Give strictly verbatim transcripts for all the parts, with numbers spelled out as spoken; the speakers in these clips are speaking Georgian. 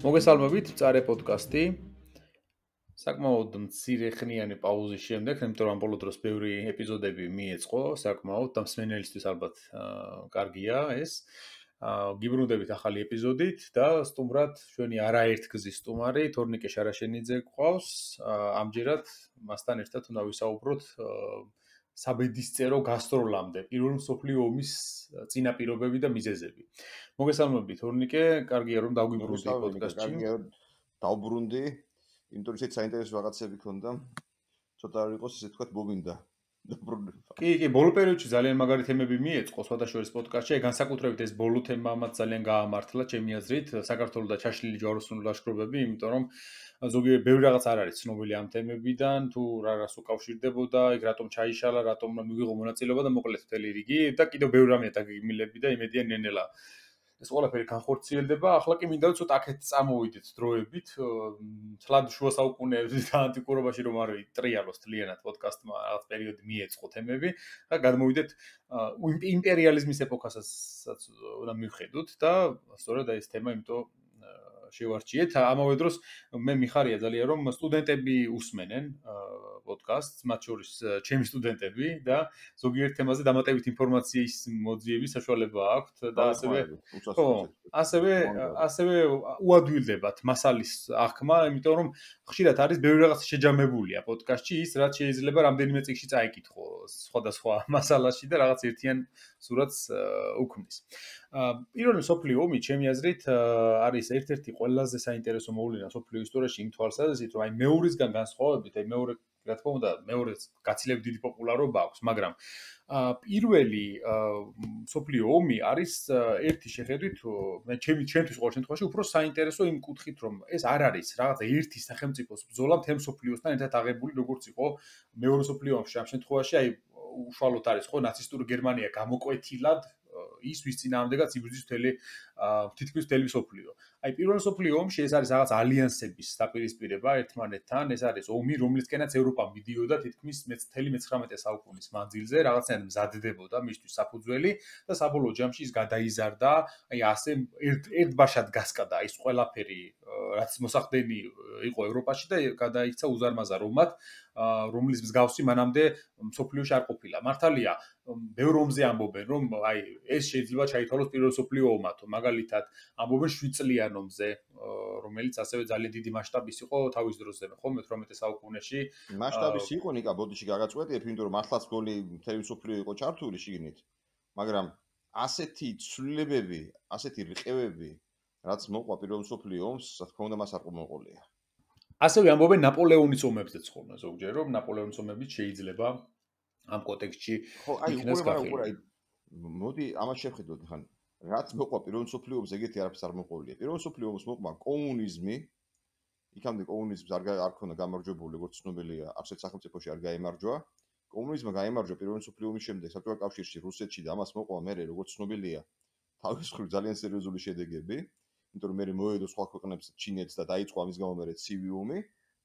მოგესალმებით, წარე პოდკასტი. საკმაოდ მცირე ხნიანი პაუზის შემდეგ, იმიტომ რომ ბოლო დროს ბევრი ეპიზოდები მიეწყო, საკმაოდ და მსმენელისთვის ალბათ კარგია ეს. გიბრუნდებით ახალი ეპიზოდით და სტუმრად ჩვენი არაერთგზის სტუმარი თორნიკე შარაშენიძე გვყავს. ამჯერად მასთან ერთად უნდა ვისაუბროთ საბედისწერო გასტროლამდე, პირველი მსოფლიო ომის წინაპირობები და მიზეზები. მოგესალმებით, თორნიკე, კარგია რომ დავგვიბრუნდი პოდკასტში. კარგია დავბრუნდი, იმიტომ რომ ისეთ საინტერესო რაღაცები ქონდა, ცოტა არ იყოს ესე თქვა მომინდა. კი, კი, ბოლო პერიოდში ძალიან მაგარი თემები მიეწყო სხვადასხვა პოდკასტში, აი განსაკუთრებით ეს ბოლო თემამაც ძალიან გაამართლა ჩემი აზრით, საქართველოს და ჩაშლილი ჯვაროსნული ლაშქრობები, იმიტომ რომ ზოგიერთ ბევრი რაღაც არ არის ცნობილი ამ თემებიდან, თუ რა რას უკავშირდებოდა, იქ რატომ ჩაიშალა, რატომ მივიღო მონაწილეობა და მოკლედ მთელი რიგი და კიდევ ბევრი რამეა დაგეგმილები და იმედია ნენელა ეს ყველაფერი განხორციელდება. ახლა კი მინდა ცოტა აქეთ წამოვიდეთ დროებით, თლად შუა საუკუნეებში და ანტიკურობაში რომ არ ვიტრიალოს თლიანად პოდკასტმა რაღაც პერიოდი მიეწყო თემები და გადმოვიდეთ იმპერიალიზმის ეპოქასაც უნდა მივხედოთ და სწორედ ეს თემა იმიტომ შევარჩიეთ. ამავე დროს მე მიხარია ძალიან რომ სტუდენტები უსმენენ პოდკასტს, მათ შორის ჩემი სტუდენტები და ზოგიერთ თემაზე დამატებით ინფორმაციის მოძიების საშუალება აქვთ და ასევე ხო, ასევე ასევე უადვილდებათ მასალის აღქმა, იმიტომ რომ ხშირად არის ბევრი რაღაც შეჯამებულია პოდკასტში, ის რაც შეიძლება რამდენიმე წიგნში წაიკითხო სხვადასხვა მასალაში და რაღაც ერთიან სურათს უქმნის. პირველი მსოფლიო ომი ჩემი აზრით არის ერთ-ერთი ყველაზე საინტერესო მოვლენა მსოფლიო ისტორიაში იმ თვალსაზრისით, რომ აი მეორისგან განსხვავებით, აი მეორე რა თქმა უნდა, მეორეც გაცილებით დიდი პოპულარობა აქვს, მაგრამ პირველი მსოფლიო ომი არის ერთი შეხედვით, მე ჩემი ჩემთვის ყოველ შემთხვევაში უფრო საინტერესო იმ კუთხით, რომ ეს არ არის რაღაცა ერთი სახელმწიფოს ბრძოლა მთელ მსოფლიოსთან ერთად აღებული, როგორც იყო მეორე მსოფლიო ომში. ამ შემთხვევაში აი უშუალოდ არის ხო ნაცისტური გერმანია გამოკვეთილად ის ვის წინააღმდეგაც იბრძვის მთელი თითქმის მთელი მსოფლიო. აი პირველ მსოფლიო ომში ეს არის რაღაც ალიანსების დაპირისპირება ერთმანეთთან, ეს არის ომი, რომლისკენაც ევროპა მიდიოდა თითქმის მთელი მეცხრამეტე საუკუნის მანძილზე, რაღაცნაირად მზადდებოდა მისთვის საფუძველი და საბოლოო ჯამში ის გადაიზარდა, აი ასე ერთ ერთბაშად გასკდა ის ყველაფერი, რაც მოსახდენი იყო ევროპაში და გადაიქცა უზარმაზარ ომად, რომლის მსგავსი მანამდე მსოფლიოში არ ყოფილა. მართალია, ბევრ ომზე ამბობენ, რომ აი ეს შეიძლება ჩაითვალოს პირველ მსოფლიო ომად, მაგალითად, ამბობენ შვიდ წლიან ომზე, რომელიც ასევე ძალიან დიდი მასშტაბის იყო თავის დროზე, ხო, მეთვრამეტე საუკუნეში. მასშტაბის იყო ნიკა, ბოდიში გაგაწყვეტიებ, იმიტომ რომ მართლაც გოლი მთელი მსოფლიო იყო ჩართული შიგნით, მაგრამ ასეთი ცვლილებები, ასეთი რიყევები, რაც მოყვა პირველ მსოფლიო ომს, რა თქმა უნდა, მას არ მოყოლია. ასევე ამბობენ ნაპოლეონის ომებზეც ხოლმე ზოგჯერ, რომ ნაპოლეონის ომებიც შეიძლება ამ კონტექსტში იქნას გახილული. მოდი ამას შევხედოთ ხან რაც მოყვა პირველ მსოფლიო ომს ეგეთი არაფერს არ მოყოლია. პირველ მსოფლიო ომს მოყვა კომუნიზმი. იქამდე კომუნიზმს არ არ ქონდა გამარჯვებული, როგორც ცნობილია, არცერთ სახელმწიფოში არ გაემარჯვა. კომუნიზმმა გაემარჯვა პირველ მსოფლიო ომის შემდეგ საბჭოთა კავშირში, რუსეთში და ამას მოყვა მე, როგორც ცნობილია, თავის მხრივ ძალიან სერიოზული შედეგები. იმიტომ რომ მე მოედო სხვა ქვეყნებს ჩინეთს და დაიწყო ამის გამო მე ცივი ომი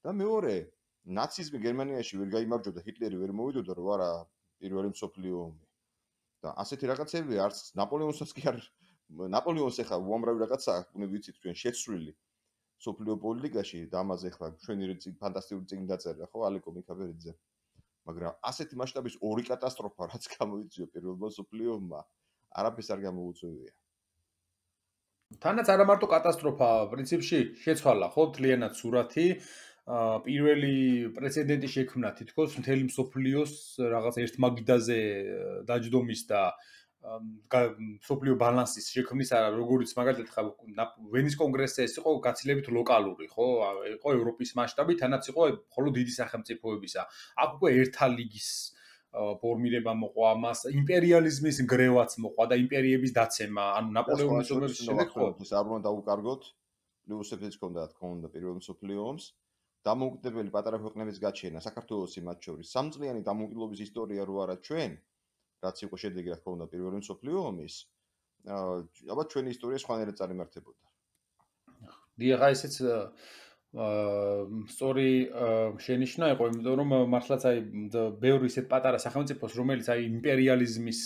და მეორე ნაციზმი გერმანიაში ვერ გაიმარჯვა და ჰიტლერი ვერ მოვიდოდა რომ არა პირველი მსოფლიო ომი. და ასეთი რაღაცები არც ნაპოლეონსაც კი არ ნაპოლეონს ახლა უამრავი რაღაცა უნდა ვიცით ჩვენ შეცვლილი მსოფლიო პოლიტიკაში და ამაზე ახლა ჩვენი ფანტასტიკური წიგნი დაწერა ხო ალეკო მიქაბერიძე. მაგრამ ასეთი მასშტაბის ორი კატასტროფა რაც გამოიწვია პირველმა მსოფლიო ომმა არაფერს არ გამოუწვევია. თანაც არა მარტო კატასტროფა, პრინციპში შეცვალა ხო მთლიანად სურათი. პირველი პრეცედენტი შექმნა თითქოს მთელი მსოფლიოს რაღაც ერთ მაგიდაზე დაჯდომის და მსოფლიო ბალანსის შექმნის, როგორც მაგალითად ხა ვენის კონგრესზე ეს იყო გაცილებით ლოკალური, ხო? იყო ევროპის მასშტაბით, თანაც იყო მხოლოდ დიდი სახელმწიფოებისა. აქ უკვე ერთა ლიგის ფორმირება მოყვა, მას იმპერიალიზმის გრევაც მოყვა და იმპერიების დაცემა, ანუ ნაპოლეონის ომების შემდეგ ხო ეს არ უნდა დაუკარგოთ, პლუსებიც ჰქონდა, თქო უნდა პირველ მსოფლიო ომს. დამოუკიდებელი პატარა ქვეყნების გაჩენა, საქართველოსი მათ შორის, სამწლიანი დამოუკიდებლობის ისტორია რო არა ჩვენ, რაც იყო შედეგი რა თქმა უნდა პირველი მსოფლიო ომის, ალბათ ჩვენი ისტორია სხვანაირად წარიმართებოდა. დიახ, ესეც სწორი შენიშვნა იყო, იმიტომ რომ მართლაც აი ბევრი ისეთ პატარა სახელმწიფოს, რომელიც აი იმპერიალიზმის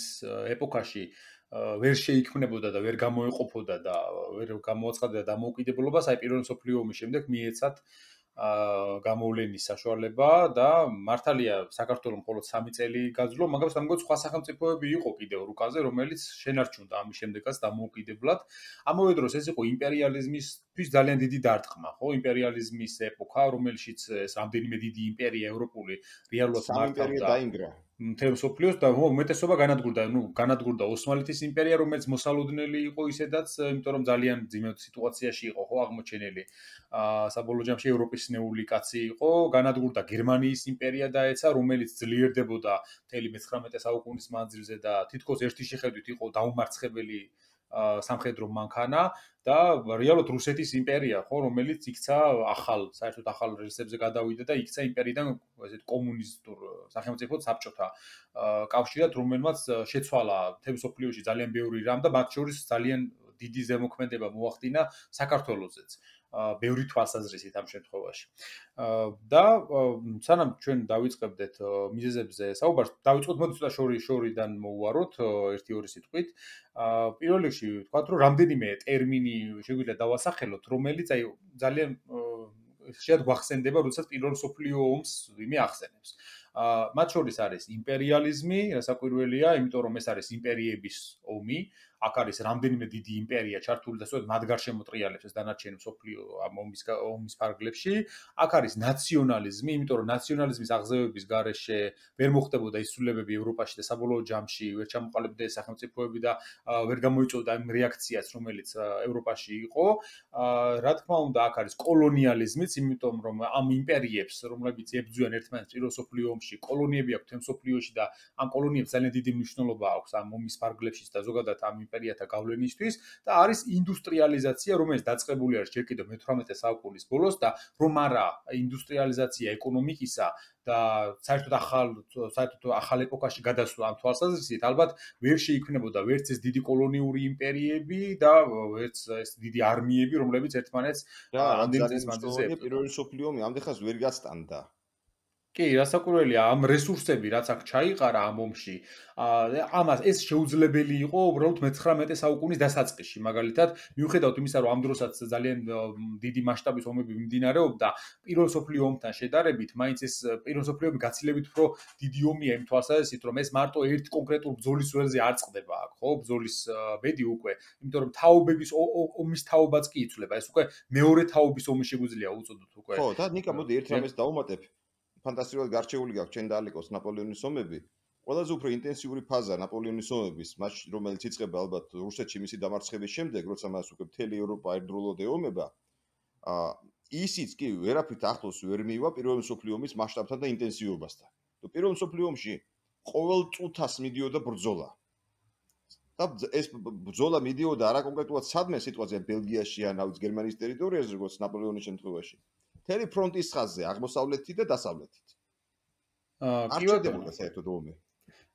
ეპოქაში ვერ შეიქმნებოდა და ვერ გამოეყოფოდა და ვერ გამოაცხადა დამოუკიდებლობას, აი პირველი მსოფლიო ომის შემდეგ მიეცათ აა გამოვლენის საშუალება და მართალია საქართველოს მხოლოდ სამი წელი გაძლო, მაგრამ სამგოთ სხვა სახელმწიფოები იყო კიდევ რუკაზე, რომელიც შენარჩუნდა ამის შემდეგაც დამოუკიდებლად. ამავე დროს ეს იყო იმპერიალიზმისთვის ძალიან დიდი დარტყმა, ხო? იმპერიალიზმის ეპოქა, რომელშიც ეს რამდენიმე დიდი იმპერია ევროპული რეალურად მართავდა დაინგრა. მთელ მსოფლიოს და უმეტესობა განადგურდა, ну, განადგურდა ოსმალეთის იმპერია, რომელიც მოსალოდნელი იყო ისედაც, იმიტომ რომ ძალიან ძიმე სიტუაციაში იყო, ხო, აღმოჩენილი. აა საბოლოო ჯამში ევროპის ნეული კაცი იყო, განადგურდა გერმანიის იმპერია დაეცა, რომელიც ძლიერდებოდა მთელი მეცხრამეტე საუკუნის მანძილზე და თითქოს ერთი შეხედვით იყო დაუმარცხებელი სამხედრო მანქანა და რეალურად რუსეთის იმპერია, ხო, რომელიც იქცა ახალ, საერთოდ ახალ რელსებზე გადავიდა და იქცა იმპერიიდან ესეთ კომუნისტურ სახელმწიფოდ საბჭოთა კავშირად, რომელმაც შეცვალა მთელ მსოფლიოში ძალიან ბევრი რამ და მათ შორის ძალიან დიდი ზემოქმედება მოახდინა საქართველოსაც. ბევრი თვალსაზრისით ამ შემთხვევაში. და სანამ ჩვენ დავიწყებდეთ მიზეზებზე საუბარს, დავიწყოთ მოდი ცოტა შორი შორიდან მოვუაროთ ერთი ორი სიტყვით. პირველ რიგში ვთქვათ, რომ რამდენიმე ტერმინი შეგვიძლია დავასახელოთ, რომელიც აი ძალიან შეად გვახსენდება, როდესაც პირველ მსოფლიო ომს ვინმე ახსენებს. მათ შორის არის იმპერიალიზმი, რასაკვირველია, იმიტომ რომ ეს არის იმპერიების ომი. აქ არის რამდენიმე დიდი იმპერია ჩართული და სწორედ მათ გარშემო ტრიალებს ეს დანარჩენი მსოფლიო ამ ომის ომის ფარგლებში. აქ არის ნაციონალიზმი, იმიტომ რომ ნაციონალიზმის აღზევების გარეშე ვერ მოხდებოდა ისრულებები ევროპაში და საბოლოო ჯამში ვერ ჩამოყალიბდა ეს სახელმწიფოები და ვერ გამოიწვევდა ამ რეაქციას, რომელიც ევროპაში იყო. რა თქმა უნდა, აქ არის კოლონიალიზმიც, იმიტომ რომ ამ იმპერიებს, რომლებიც ებრძვიან ერთმანეთს პირველ მსოფლიო ომში, კოლონიები აქვთ მსოფლიოში და ამ კოლონიებს ძალიან დიდი მნიშვნელობა აქვს ამ ომის ფარგლებშიც და ზოგადად ამ იმპერიათა გავლენისთვის და არის ინდუსტრიალიზაცია, რომელიც დაწყებული არის ჯერ კიდევ მეთვრამეტე საუკუნის ბოლოს და რომ არა ინდუსტრიალიზაცია ეკონომიკისა და საერთოდ ახალ საერთოდ ახალ ეპოქაში გადასვლა ამ თვალსაზრისით, ალბათ ვერ შეიქმნებოდა ვერც ეს დიდი კოლონიური იმპერიები და ვერც ეს დიდი არმიები, რომლებიც ერთმანეთს ამდენ წელს მანძილზე ებრძოდა. პირველი მსოფლიო ომი ამდენ ხანს ვერ გასტანდა. კი, რასაკვირველია, ამ რესურსები, რაც აქ ჩაიყარა ამ ომში, ამას ეს შეუძლებელი იყო უბრალოდ მეცხრამეტე საუკუნის დასაწყისში, მაგალითად, მიუხედავად იმისა, რომ ამ დროსაც ძალიან დიდი მასშტაბის ომები მიმდინარეობდა, პირველ მსოფლიო ომთან შედარებით, მაინც ეს პირველ მსოფლიო ომი გაცილებით უფრო დიდი ომია იმ თვალსაზრისით, რომ ეს მარტო ერთ კონკრეტულ ბრძოლის ველზე არ წყდება აქ, ხო, ბრძოლის ბედი უკვე, იმიტომ რომ თაობების ომის თაობაც კი იცვლება, ეს უკვე მეორე თაობის ომი შეგვიძლია უწოდოთ უკვე. ხო, და ნიკა, მოდი ერთ რამეს დავუმატებ. ფანტასტიკურად გარჩეული გაქვს ჩვენ დაალეკოს ნაპოლეონის ომები. ყველაზე უფრო ინტენსიური ფაზა ნაპოლეონის ომების, მას რომელიც იწყება ალბათ რუსეთში მისი დამარცხების შემდეგ, როცა მას უკვე მთელი ევროპა ერთდროულად ეომება, აა ისიც კი ვერაფრით ახლოს ვერ მივა პირველ მსოფლიო ომის მასშტაბთან და ინტენსივობასთან. და პირველ მსოფლიო ომში ყოველ წუთას მიდიოდა ბრძოლა. და ეს ბრძოლა მიდიოდა არა კონკრეტულად სადმე სიტუაცია ბელგიაში ან აუც გერმანიის ტერიტორიაზე, როგორც ნაპოლეონის შემთხვევაში. მთელი ფრონტის ხაზზე, აღმოსავლეთით და დასავლეთით. აა კი ვედებოდა საერთოდ ომი.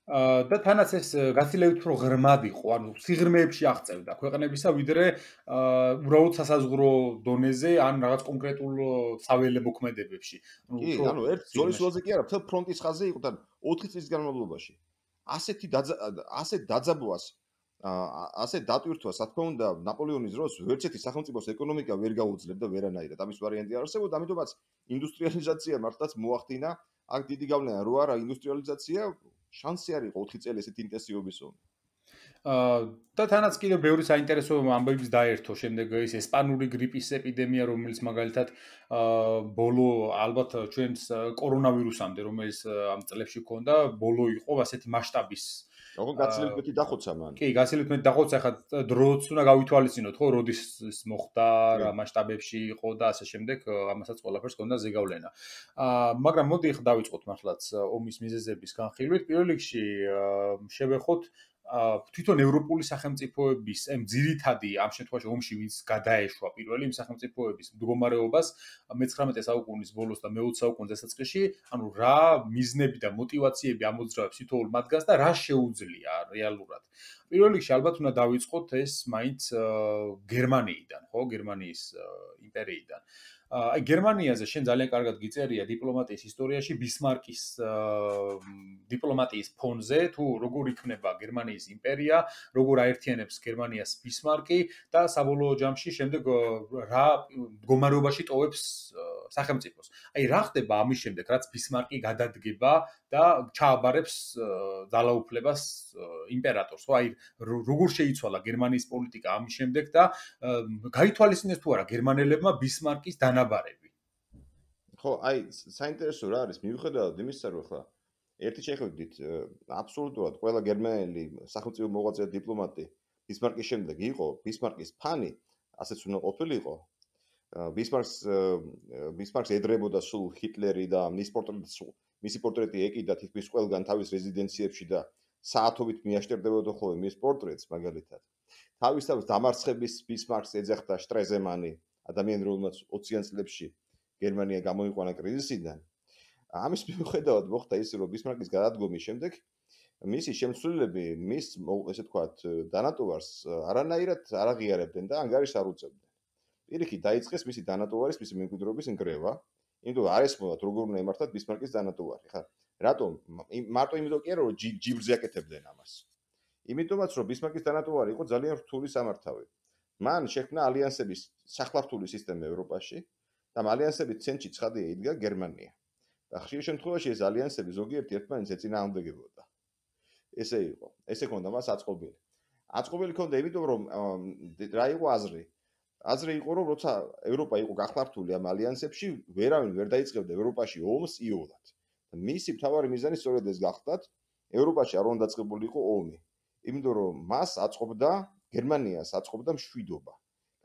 აა და თანაც ეს გაცილებით უფრო ღრმად იყო, ანუ სიღრმეებში აღწევდა ქვეყნებისა, ვიდრე აა უბრალოდ სასაზღვრო დონეზე ან რაღაც კონკრეტულ საველე მოქმედებებში. ანუ კი, ანუ ერთ ზოლის ველზე კი არა, მთელ ფრონტის ხაზზე იყო და ოთხი წლის განმავლობაში. ასეთი ასეთ დაძაბვას ასე დატვირთვას, რა თქმა უნდა, ნაპოლეონის დროს ვერც ერთი სახელმწიფოს ეკონომიკა ვერ გაუძლებდა ვერანაირად. ამის ვარიანტი არ არსებობდა, ამიტომაც ინდუსტრიალიზაცია მართლაც მოახდინა. აქ დიდი გავლენა რო არა ინდუსტრიალიზაცია, შანსი არ იყო ოთხი წელი ესეთ ინტენსივობის ომი. აა და თანაც კიდევ ბევრი საინტერესო ამბებიც დაერთო შემდეგ ის ესპანური გრიპის ეპიდემია, რომელიც მაგალითად აა ბოლო ალბათ ჩვენს კორონავირუსამდე, რომელიც ამ წლებში ჰქონდა, ბოლო იყო ასეთი მასშტაბის როგორ გაცილებით მეტი დახოცა მან. კი, გაცილებით მეტი დახოცა, ხა დროც უნდა გავითვალისწინოთ, ხო, როდის ის მოხდა, რა მასშტაბებში იყო და ასე შემდეგ, ამასაც ყველაფერს ჰქონდა ზეგავლენა. აა მაგრამ მოდი ხა დავიწყოთ მართლაც ომის მიზეზების განხილვით. პირველ რიგში შევეხოთ თვითონ ევროპული სახელმწიფოების ამ ძირითადი ამ შემთხვევაში ომში ვინც გადაეშვა პირველი იმ სახელმწიფოების მდგომარეობას მეცხრამეტე საუკუნის ბოლოს და მეოცე საუკუნის დასაწყისში, ანუ რა მიზნები და мотиваციები ამოძრავებს თითოეულ მათგანს და რა შეუძლია რეალურად. პირველ რიგში ალბათ უნდა დავიწყოთ ეს მაინც გერმანიიდან, ხო, გერმანიის იმპერიიდან. აი გერმანიაზე შენ ძალიან კარგად გიწერია დიპლომატიის ისტორიაში ბისმარკის დიპლომატიის ფონზე თუ როგორ იქნება გერმანიის იმპერია, როგორ აერთიანებს გერმანიას ბისმარკი და საბოლოო ჯამში შემდეგ რა მდგომარეობაში ტოვებს სახელმწიფოს. აი რა ხდება ამის შემდეგ, რაც ბისმარკი გადადგება და ჩააბარებს ძალაუფლებას იმპერატორს, ხო? აი როგორ შეიცვალა გერმანიის პოლიტიკა ამის შემდეგ და გაითვალისწინეს თუ არა გერმანელებმა ბისმარკის დანაბარები. ხო, აი საინტერესო რა არის, მიუხედავად იმისა, რომ ხა ერთი შეხედვით აბსოლუტურად ყველა გერმანელი სახელმწიფო მოღვაწე დიპლომატი ბისმარკის შემდეგ იყო ბისმარკის ფანი, ასეც უნდა ყოფილიყო. ბისმარკს ბისმარკს ედრებოდა სულ ჰიტლერი და მის პორტრეტი მისი პორტრეტი ეკიდა თითქმის ყველგან თავის რეზიდენციებში და საათობით მიაშტერდებოდა ხოლმე მის პორტრეტს მაგალითად. თავისთავად დამარცხების ბისმარკს ეძახდა შტრეზემანი, ადამიანი რომელმაც ოციან წლებში გერმანია გამოიყვანა კრიზისიდან. ამის მიუხედავად მოხდა ისე, რომ ბისმარკის გადადგომის შემდეგ მისი შემცვლელები მის ესე ვთქვათ დანატოვარს არანაირად არ აღიარებდნენ და ანგარიშს არ უწევდნენ. პირიქით დაიწყეს მისი დანატოვარის, მისი მემკვიდრეობის ნგრევა, იმიტომ არ ესმოდათ როგორ უნდა ემართათ ბისმარკის დანატოვარი. ხა რატომ? მარტო იმიტომ კი არა, რომ ჯიბრზე აკეთებდნენ ამას. იმიტომაც რომ ბისმარკის დანატოვარი იყო ძალიან რთული სამართავი. მან შექმნა ალიანსების სახლავთული სისტემა ევროპაში და ამ ალიანსების ცენტრში ცხადია იდგა გერმანია. და ხშირ შემთხვევაში ეს ალიანსები ზოგიერთი ერთმანეთს ეწინააღმდეგებოდა. ესე იყო. ესე ქონდა მას აწყობილი. აწყობილი ქონდა იმიტომ რომ რა იყო აზრი? აზრი იყო რომ როცა ევროპა იყო გახლართული ამ ალიანსებში, ვერავინ ვერ დაიწყებდა ევროპაში ომს იოლად. მისი მთავარი მიზანი სწორედ ეს გახლდათ, ევროპაში არ უნდა დაწყებულიყო ომი. იმიტომ რომ მას აწყობდა გერმანიას აწყობდა მშვიდობა.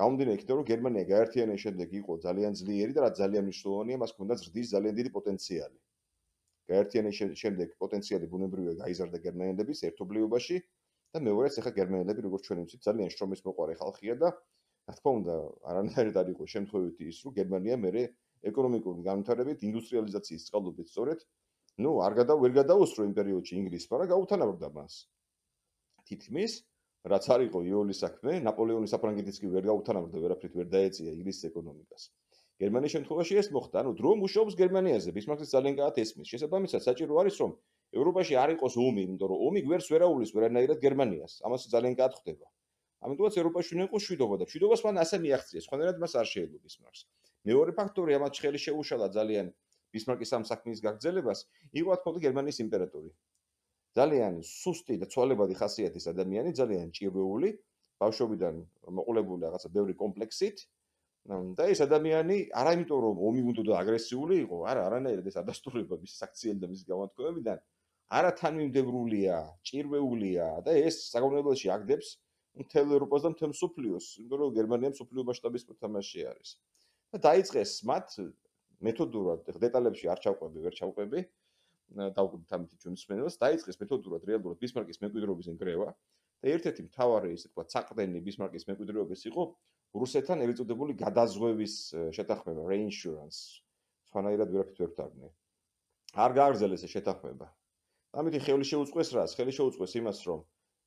გამომდინარე იქიდან რომ გერმანია გაერთიანების შემდეგ იყო ძალიან ძლიერი და რაც ძალიან მნიშვნელოვანია, მას ჰქონდა ზრდის ძალიან დიდი პოტენციალი. გაერთიანების შემდეგ პოტენციალი ბუნებრივია გაიზარდა გერმანელების ერთობლიობაში და მეორეც ახლა გერმანელები როგორც ჩვენ ვიცით ძალიან შრომის მოყარე ხალხია და რა თქმა უნდა არანაირად არ იყო შემთხვევითი ის რომ გერმანია მერე ეკონომიკური განვითარებით ინდუსტრიალიზაციის წყალობით სწორედ ნუ არ გადა ვერ გადაუსწრო იმ პერიოდში ინგლისმა და გაუთანაბრდა მას. თითქმის რაც არ იყო იოლის საქმე, ნაპოლეონის საფრანგეთის კი ვერ გაუთანაბრდა, ვერაფრით ვერ დაეწია ინგლისის ეკონომიკას. გერმანიის შემთხვევაში ეს მოხდა, ანუ დრო მუშაობს გერმანიაზე, ბისმარკის ძალიან კარგად ესმის. შესაბამისად, საჭირო არის რომ ევროპაში არ იყოს ომი, იმიტომ რომ ომი გვერდს ვერ აუვლის ვერანაირად გერმანიას. ამას ძალიან კარგად ხდება. ამიტომაც ევროპაში უნდა იყოს მშვიდობა და მშვიდობას მან ასე მიაღწია, სხვანაირად მას არ შეეძლო ბისმარკს. მეორე ფაქტორი, ამათ ხელი შეუშალა ძალიან ბისმარკის ამ საქმის გაგრძელებას, იყო რა თქმა უნდა გერმანიის იმპერატორი. ძალიან სუსტი და ცვალებადი ხასიათის ადამიანი, ძალიან ჭირვეული, ბავშვობიდან მოყოლებული რაღაცა ბევრი კომპლექსით. და ეს ადამიანი არა იმიტომ რომ ომი უნდა და აგრესიული იყო, არა, არანაირად ეს ადასტურება მის საქციელი და მის გამოთქმებიდან, არა თანმიმდევრულია, ჭირვეულია და ეს საგანმანათლებლობაში აგდებს მთელ ევროპას და მთელ მსოფლიოს, იმიტომ რომ გერმანია მსოფლიო მასშტაბის მოთამაშე არის. და დაიწყეს მათ მეთოდურად, დეტალებში არ ჩავყვები, ვერ ჩავყვები. დავგვით ამით ჩვენ მსმენელს დაიწყეს მეთოდურად რეალურად ბისმარკის მემკვიდრეობის ნგრევა და ერთ-ერთი მთავარი ისე თქვა საყრდენი ბისმარკის მემკვიდრეობის იყო რუსეთთან ეწოდებული გადაზღვევის შეთანხმება reinsurance. სხვანაირად ვერაფრით ვერ ვთარგმნე. არ გააგრძელეს ეს შეთანხმება. ამით ხელი შეუწყეს რას? ხელი შეუწყეს იმას, რომ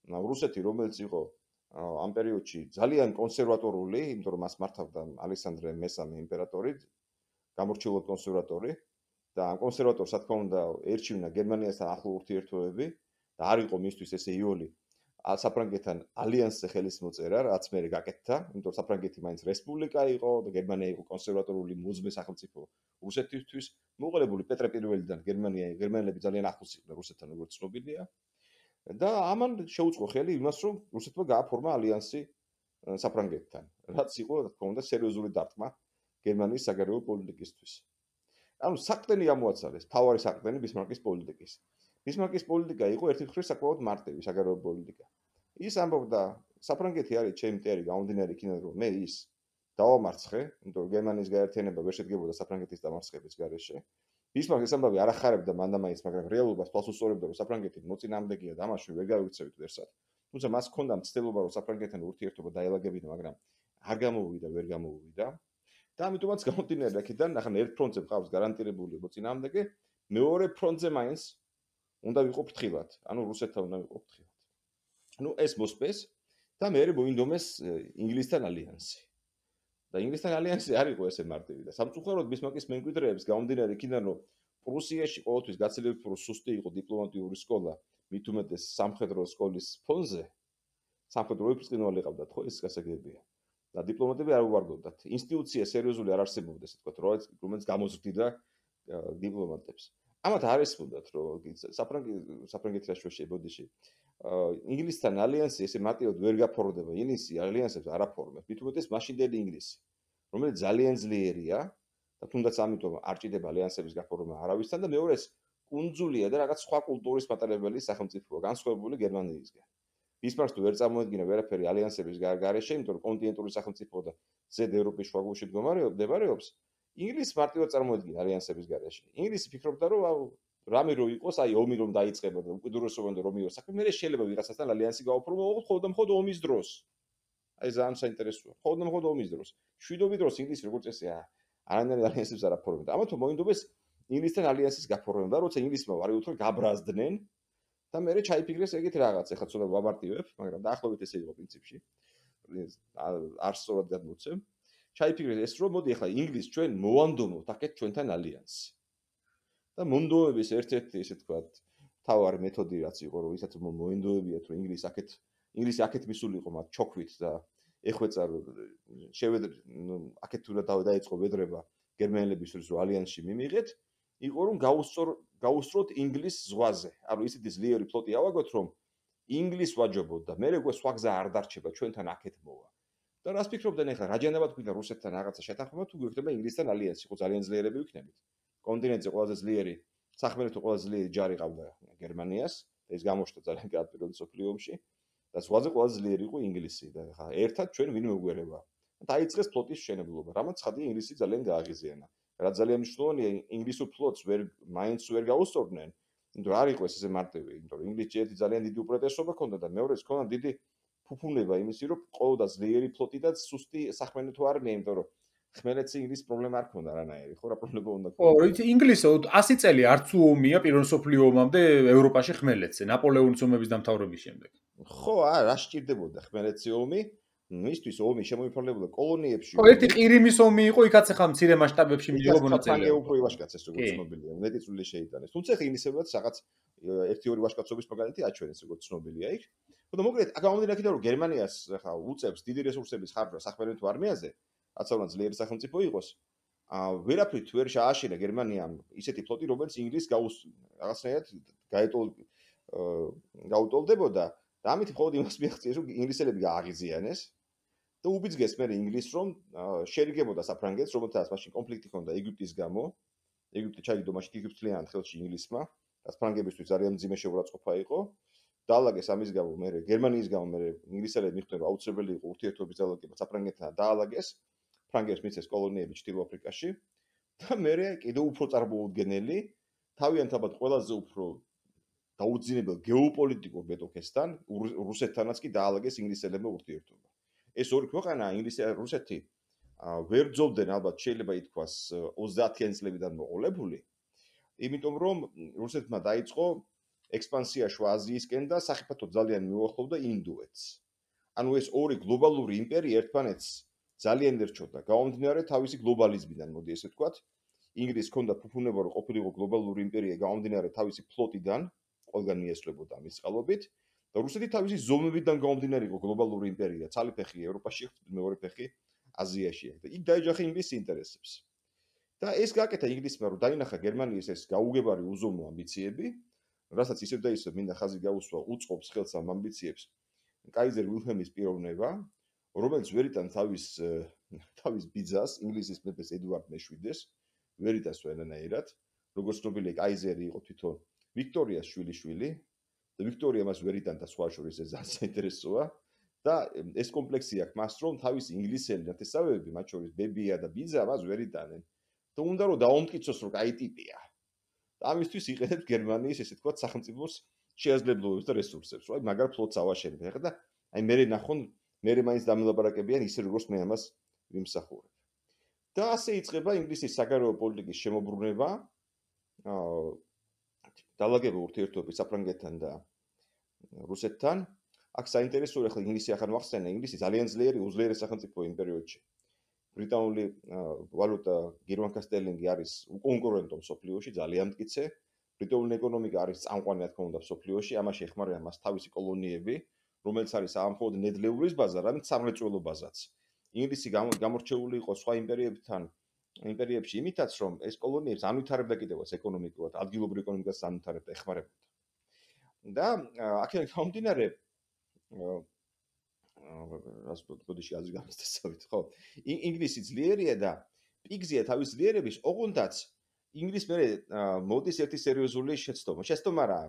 რუსეთი, რომელიც იყო ამ პერიოდში ძალიან კონსერვატორული, იმიტომ რომ მას მართავდა ალექსანდრე მესამე იმპერატორი, გამორჩეულად კონსერვატორი და ამ კონსერვატორს რა თქმა უნდა ერჩივნა გერმანიასთან ახლო ურთიერთობები და არ იყო მისთვის ესე იოლი საფრანგეთთან ალიანსზე ხელის მოწერა, რაც მე გაკეთდა, იმიტომ რომ საფრანგეთი მაინც რესპუბლიკა იყო და გერმანია იყო კონსერვატორული მუზმე სახელმწიფო რუსეთისთვის. მოუყოლებული პეტრე პირველიდან გერმანია გერმანელები ძალიან ახლოს იყვნენ რუსეთთან, როგორც ცნობილია. და ამან შეუწყო ხელი იმას, რომ რუსეთმა გააფორმა ალიანსი საფრანგეთთან, რაც იყო რა თქმა უნდა სერიოზული დარტყმა გერმანიის საგარეო პოლიტიკისთვის. ანუ საყრდენი გამოაცალეს, თავარი საყრდენი ბისმარკის პოლიტიკის. ბისმარკის პოლიტიკა იყო ერთი მხრივ საკმაოდ მარტივი საგარეო პოლიტიკა. ის ამბობდა, საფრანგეთი არის ჩემი მტერი, გამომდინარე იქიდან რომ მე ის დავამარცხე, იმიტომ რომ გერმანიის გაერთიანება ვერ შედგებოდა საფრანგეთის დამარცხების გარეშე. ბისმარკი ეს ამბავი არ ახარებდა მანდამაინც, მაგრამ რეალობას თვალს უსწორებდა, რომ საფრანგეთი მოწინააღმდეგეა და ამაში ვერ გავიქცევით ვერსად. თუმცა მას ჰქონდა მცდელობა, რომ საფრანგეთთან ურთიერთობა დაელაგებინა, მაგრამ არ გამოვიდა, ვერ გამოვიდა. და ამიტომაც გამომდინარე აქედან, ახლა ერთ ფრონტზე მყავს გარანტირებული მოწინააღმდეგე, მეორე ფრონტზე მაინც უნდა ვიყო ფრთხილად, ანუ რუსეთთან უნდა ვიყო ფრთხილად. ნუ ეს მოსპეს და მე მოინდომეს ინგლისთან ალიანსი. და ინგლისთან ალიანსი არ იყო ესე მარტივი და სამწუხაროდ ბისმარკის მემკვიდრეებს გამომდინარე იქიდან რომ პრუსიაში ყოველთვის გაცილებით უფრო სუსტი იყო დიპლომატიური სკოლა, მით უმეტეს სამხედრო სკოლის ფონზე, სამხედრო ოფიცრინვალი ყავდათ, ხო ეს გასაგებია. და დიპლომატები არ უვარდოდათ. ინსტიტუცია სერიოზული არ არსებობდა, ესე ვთქვათ, რომელიც გამოზრდიდა დიპლომატებს. ამათ არ ესმოდათ, რომ საფრანგეთი საფრანგეთი რა შეშე ბოდიში. ინგლისთან ალიანსი ესე მარტივად ვერ გაფორმდება, ინგლისი ალიანსებს არ აფორმებს. მით უმეტეს მაშინდელი ინგლისი, რომელიც ძალიან ძლიერია და თუნდაც ამიტომ არ ჭირდება ალიანსების გაფორმა არავისთან და მეორეს კუნძულია და რაღაც სხვა კულტურის მატარებელი სახელმწიფოა, განსხვავებული გერმანიისგან. ბისმარკს თუ ვერ წარმოედგინა ვერაფერი ალიანსების გარეშე, იმიტომ რომ კონტინენტური სახელმწიფო და ზედ ევროპის შუაგულში მდგომარეობს, ინგლისი მარტივად წარმოედგინა ალიანსების გარეშე. ინგლისი ფიქრობდა, რომ რამე რო იყოს, აი ომი რომ დაიწყება და უკიდურესობამდე რომ მიიღოს საქმე, მე შეიძლება ვიღაცასთან ალიანსი გავაფორმო, ხოლმე და მხოლოდ ომის დროს. აი ძალიან საინტერესოა. ხოლმე და მხოლოდ ომის დროს. შვიდობის დროს ინგლისი როგორც წესია, არანაირ ალიანსებს არ აფორმებდა. ამათო მოინდობეს ინგლისთან ალიანსის გაფორმება, როცა ინგლისმა ვარიუთხე გაბრაზდნენ და მე ჩაიფიქრეს ეგეთ რაღაც, ეხლა ცოტა ვამარტივებ, მაგრამ დაახლოებით ესე იყო პრინციპში. არ სწორად გადმოცემ. ჩაიფიქრეს ეს რომ მოდი ახლა ინგლისს ჩვენ მოვანდომოთ აქეთ ჩვენთან ალიანსი. და მონდომების ერთ-ერთი ესე თქვათ თავარი მეთოდი რაც იყო რომ ისაც მოინდომებიათ რომ ინგლისი აქეთ ინგლისი აქეთ მისულიყო მათ ჩოქვით და ეხვეწა შევედ აქეთ თუ რა დაიწყო ვედრება გერმანელებისთვის რომ ალიანსში მიმიღეთ იყო რომ გაუსწორ გაუსწროთ ინგლისს ზღვაზე. ანუ ისეთი ძლიერი ფლოტი ავაგოთ რომ ინგლისს ვაჯობოთ და მე როგორ სხვა გზა არ დარჩება ჩვენთან აქეთ მოვა. და რას ფიქრობდნენ ახლა რაჯანაბად გვინდა რუსეთთან რაღაცა შეთანხმება თუ გვექნება ინგლისთან ალიანსი, ხო ძალიან ძლიერები ვიქნებით. კონტინენტზე ყველაზე ძლიერი სახმელეთო ყველაზე ძლიერი ჯარი ყავდა გერმანიას და ეს გამოჩნდა ძალიან კარგად პირველ მსოფლიო ომში და ზღვაზე ყველაზე ძლიერი იყო ინგლისი და ახლა ერთად ჩვენ ვინ მოგვერება. დაიწყეს ფლოტის მშენებლობა, რამაც ცხადია ინგლისი ძალიან გააღიზიანა. რაც ძალიან მნიშვნელოვანია, ინგლისურ ფლოტს ვერ მაინც ვერ გაუსწორდნენ, იმიტომ რომ არ იყო ეს ესე მარტივი, იმიტომ რომ ინგლისში ერთი ძალიან დიდი უპრეტესობა ჰქონდა და მეორეს ჰქონდა დიდი ფუფუნება იმისი, რომ ყოლოდა ძლიერი ფლოტი და სუსტი სახმელეთო არმია, იმიტომ რომ ხმელეთს ინგლისს პრობლემა არ ჰქონდა არანაირი, ხო რა პრობლემა უნდა ხო, იცი ინგლისო ასი წელი არც ომია პირველ მსოფლიო ომამდე ევროპაში ხმელეთზე, ნაპოლეონის ომების დამთავრების შემდეგ. ხო, არა, რა სჭირდებოდა ხმელეთზე ომი? მისთვის ომი შემოიფარგლებოდა კოლონიებში. ხო, ერთი ყირიმის ომი იყო, იქაც ახლა მცირე მასშტაბებში მიიღო მონაწილეობა. ფრანგე უფრო ივაშკაცეს როგორც ცნობილია, მეტი წვლილი შეიტანეს. თუმცა ხე ინგლისებად რაღაც ერთი ორი ვაშკაცობის მაგალითი აჩვენეს როგორც ცნობილია იქ. ხო და მოკლედ, გამომდინარე იქიდან რომ გერმანიას ახლა უწევს დიდი რესურსების ხარჯვა სახმელეთო არმიაზე, რაც უნდა ძლიერი სახელმწიფო იყოს. აა ვერაფრით ვერ შეაშინა გერმანიამ ისეთი ფლოტი, რომელიც ინგლისს გაუს რაღაცნაირად გაეტოლ გაუტოლდებოდა და ამით მხოლოდ იმას მიაღწიეს, რომ ინგლისელები გააღიზიანეს. და უბიძგეს მე ინგლისს რომ შეერიგებოდა საფრანგეთს, რომელთაც მაშინ კონფლიქტი ჰქონდა ეგვიპტის გამო. ეგვიპტე ჩაიგდო მაშინ თვითმფრინავად ხელში ინგლისმა, და ფრანგებისთვის ძალიან მძიმე შეურაცხყოფა იყო. დაალაგეს ამის გამო მე გერმანიის გამო მე ინგლისელები მიხვდნენ რომ აუცილებელი იყო ურთიერთობის ძალადობა საფრანგეთთან დაალაგეს. ფრანგებს მიცეს კოლონიები ჩრდილო აფრიკაში და მე კიდევ უფრო წარმოუდგენელი თავიანთაბად ყველაზე უფრო დაუძინებელ გეოპოლიტიკურ მეტოქესთან რუსეთთანაც კი დაალაგეს ინგლისელებმა ურთიერთობა. ეს ორი ქვეყანა ინგლისი რუსეთი ვერ ძოვდნენ ალბათ შეიძლება ითქვას ოცდაათიანი წლებიდან მოყოლებული, იმიტომ რომ რუსეთმა დაიწყო ექსპანსია შუა აზიისკენ და სახიფათო ძალიან მიუახლოვდა ინდოეთს. ანუ ეს ორი გლობალური იმპერია ერთმანეთს ძალიან ერჩოდა. გამომდინარე თავისი გლობალიზმიდან, მოდი ესე ვთქვათ, ინგლისს ჰქონდა ფუფუნება რომ ყოფილიყო გლობალური იმპერია გამომდინარე თავისი ფლოტიდან, ყველგან მიესვლებოდა მის წყალობით. და რუსეთი თავისი ზომებიდან გამომდინარე იყო გლობალური იმპერია, ცალი ფეხი ევროპაში, მეორე ფეხი აზიაში და იქ დაეჯახა ინგლისის ინტერესებს. და ეს გააკეთა ინგლისმა რომ დაინახა გერმანიის ეს გაუგებარი უზომო ამბიციები, რასაც ისევ და ისევ მინდა ხაზი გაუსვა უწყობს ხელს ამ ამბიციებს კაიზერ ვილჰელმის პიროვნება, რომელიც ვერიტან თავის თავის ბიძას, ინგლისის მეფეს ედუარდ მეშვიდეს, ვერ იტანს ვერანაირად, როგორც ცნობილია კაიზერი იყო თვითონ ვიქტორიას შვილიშვილი. და ვიქტორია მას ვერ იტანდა სხვა შორის ეს ძალიან საინტერესოა და ეს კომპლექსი აქვს მას რომ თავის ინგლისელი ნათესავები, მათ შორის ბებია და ბიძა მას ვერ იტანენ. და უნდა რომ დაუმტკიცოს რომ კაი ტიპია. და ამისთვის იყენებს გერმანიის ესე თქვა სახელმწიფოს შეაძლებლობებს და რესურსებს, რომ აი მაგარ ფლოტს ავაშენებ. ეხლა და აი მე ნახონ მე მაინც დამილაპარაკებიან ისე როგორც მე ამას ვიმსახურებ. და ასე იწყება ინგლისის საგარეო პოლიტიკის შემოbrunება. აა დაალაგება ურთიერთობები საფრანგეთთან და რუსეთთან. აქ საინტერესოა ახლა ინგლისი ახან ვახსენე, ინგლისი ძალიან ძლიერი უძლიერეს სახელმწიფო იმ პერიოდში. ბრიტანული ვალუტა გერმანკა სტერლინგი არის უკონკურენტო მსოფლიოში, ძალიან მტკიცე. ბრიტანული ეკონომიკა არის წამყვანი, რა თქმა უნდა, მსოფლიოში, ამაში ეხმარება მას თავისი კოლონიები, რომელიც არის ამხოლოდ ნედლეულის ბაზა, რამაც სამრეწველო ბაზაც. ინგლისი გამორჩეული იყო სხვა იმპერიებთან, იმპერიებში იმითაც, რომ ეს კოლონიებს ანვითარებდა კიდევაც ეკონომიკურად, ადგილობრივ ეკონომიკას ანვითარებდა, ეხმარებოდა. და აქედან გამომდინარე რას ბოდიში აზრი გამოსცავით, ხო? ინგლისი ძლიერია და პიგზია თავის ძლიერების, ოღონდაც ინგლისს მე მოდის ერთი სერიოზული შეცდომა. შეცდომა რა?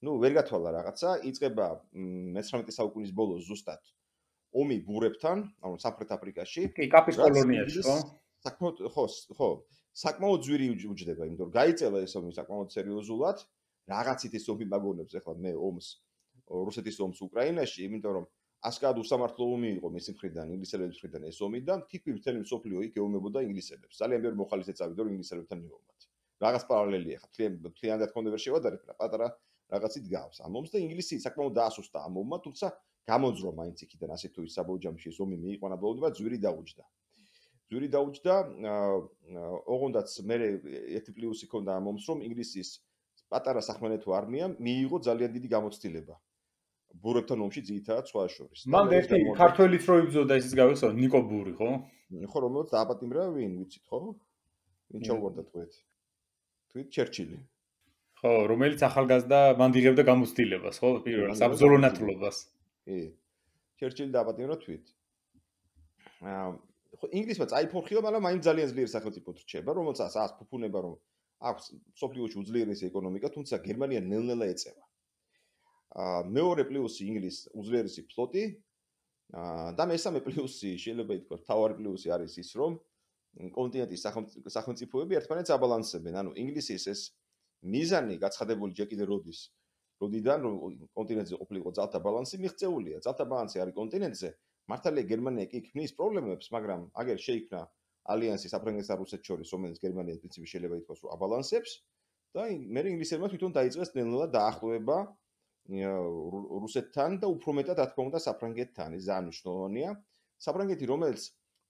ნუ ვერ გათვალა რაღაცა, იწყება მეთვრამეტე საუკუნის ბოლოს ზუსტად ომი ბურებთან, ანუ სამხრეთ აფრიკაში. კი, კაპის კოლონიაში, ხო? საკმაოდ ხო, ხო, საკმაოდ ძვირი უჯდება, იმიტომ რომ გაიწელა ეს ომი საკმაოდ სერიოზულად. რაღაცით ეს ომი მაგონებს ახლა მე ომს რუსეთის ომს უკრაინაში, იმიტომ რომ ასკად უსამართლო ომი იყო მისი მხრიდან, ინგლისელების მხრიდან ეს ომი და თითქმის მთელი მსოფლიო იქ ეომებოდა ინგლისელებს. ძალიან ბევრი მოხალისე წავიდა რომ ინგლისელებთან მიომათ. რაღაც პარალელია ხა, მთლიანად რა თქმა უნდა ვერ შევადარებ, რა პატარა რაღაცით გავს. ამ ომს და ინგლისი საკმაოდ დაასუსტა ამ ომმა, თუმცა გამოძრო მაინც იქიდან ასე თუ ის საბოჯამში ეს ომი მიიყვანა ბოლომდე, ძვირი დაუჯდა. ძვირი დაუჯდა, ოღონდაც მე ერთი პლუსი ქონდა ამ ომს, რომ ინგლისის პატარა სახმელეთო არმიამ მიიღო ძალიან დიდი გამოცდილება. ბურებთან ომში ძირითადად სხვა შორის. მან ერთი ქართველიც რო იბრძოდა ისიც გავიხსო, ნიკო ბური, ხო? ხო, რომელიც დააპატიმრა ვინ, ვიცით, ხო? ვინ ჩაუვარდა თქვით? თქვით ჩერჩილი. ხო, რომელიც ახალგაზრდა მან იღებდა გამოცდილებას, ხო? პირველ საბრძოლო ნათლობას. კი. ჩერჩილი დააპატიმრა თქვით. აა ხო, ინგლისმა წაიფორხილა, მაგრამ მაინც ძალიან ძლიერი სახელმწიფო რჩება, რომელსაც ას ფუფუნება რომ აქვს სოფლიოში უძლიერესი ეკონომიკა, თუმცა გერმანია ნელ-ნელა ეწევა. აა მეორე პლუსი ინგლისს უძლიერესი ფლოტი. აა და მესამე პლუსი შეიძლება ითქვას, თავარი პლუსი არის ის, რომ კონტინენტის სახელმწიფოები ერთმანეთს აბალანსებენ. ანუ ინგლისის ეს მიზანი გაცხადებული ჯერ კიდევ როდის, როდიდან რომ კონტინენტზე ყოფილიყო ძალთა ბალანსი მიღწეულია. ძალთა ბალანსი არის კონტინენტზე. მართალია გერმანია კი ქმნის პრობლემებს, მაგრამ აგერ შეიქმნა ალიანსი საფრანგეთსა და რუსეთს შორის, რომელიც გერმანიას პრინციპში შეიძლება ითქვას, რომ აბალანსებს და მე ინგლისელებმა თვითონ დაიწყეს ნელ-ნელა დაახლოება რუსეთთან და უფრო მეტად რა თქმა უნდა საფრანგეთთან. ეს ძალიან მნიშვნელოვანია. საფრანგეთი, რომელიც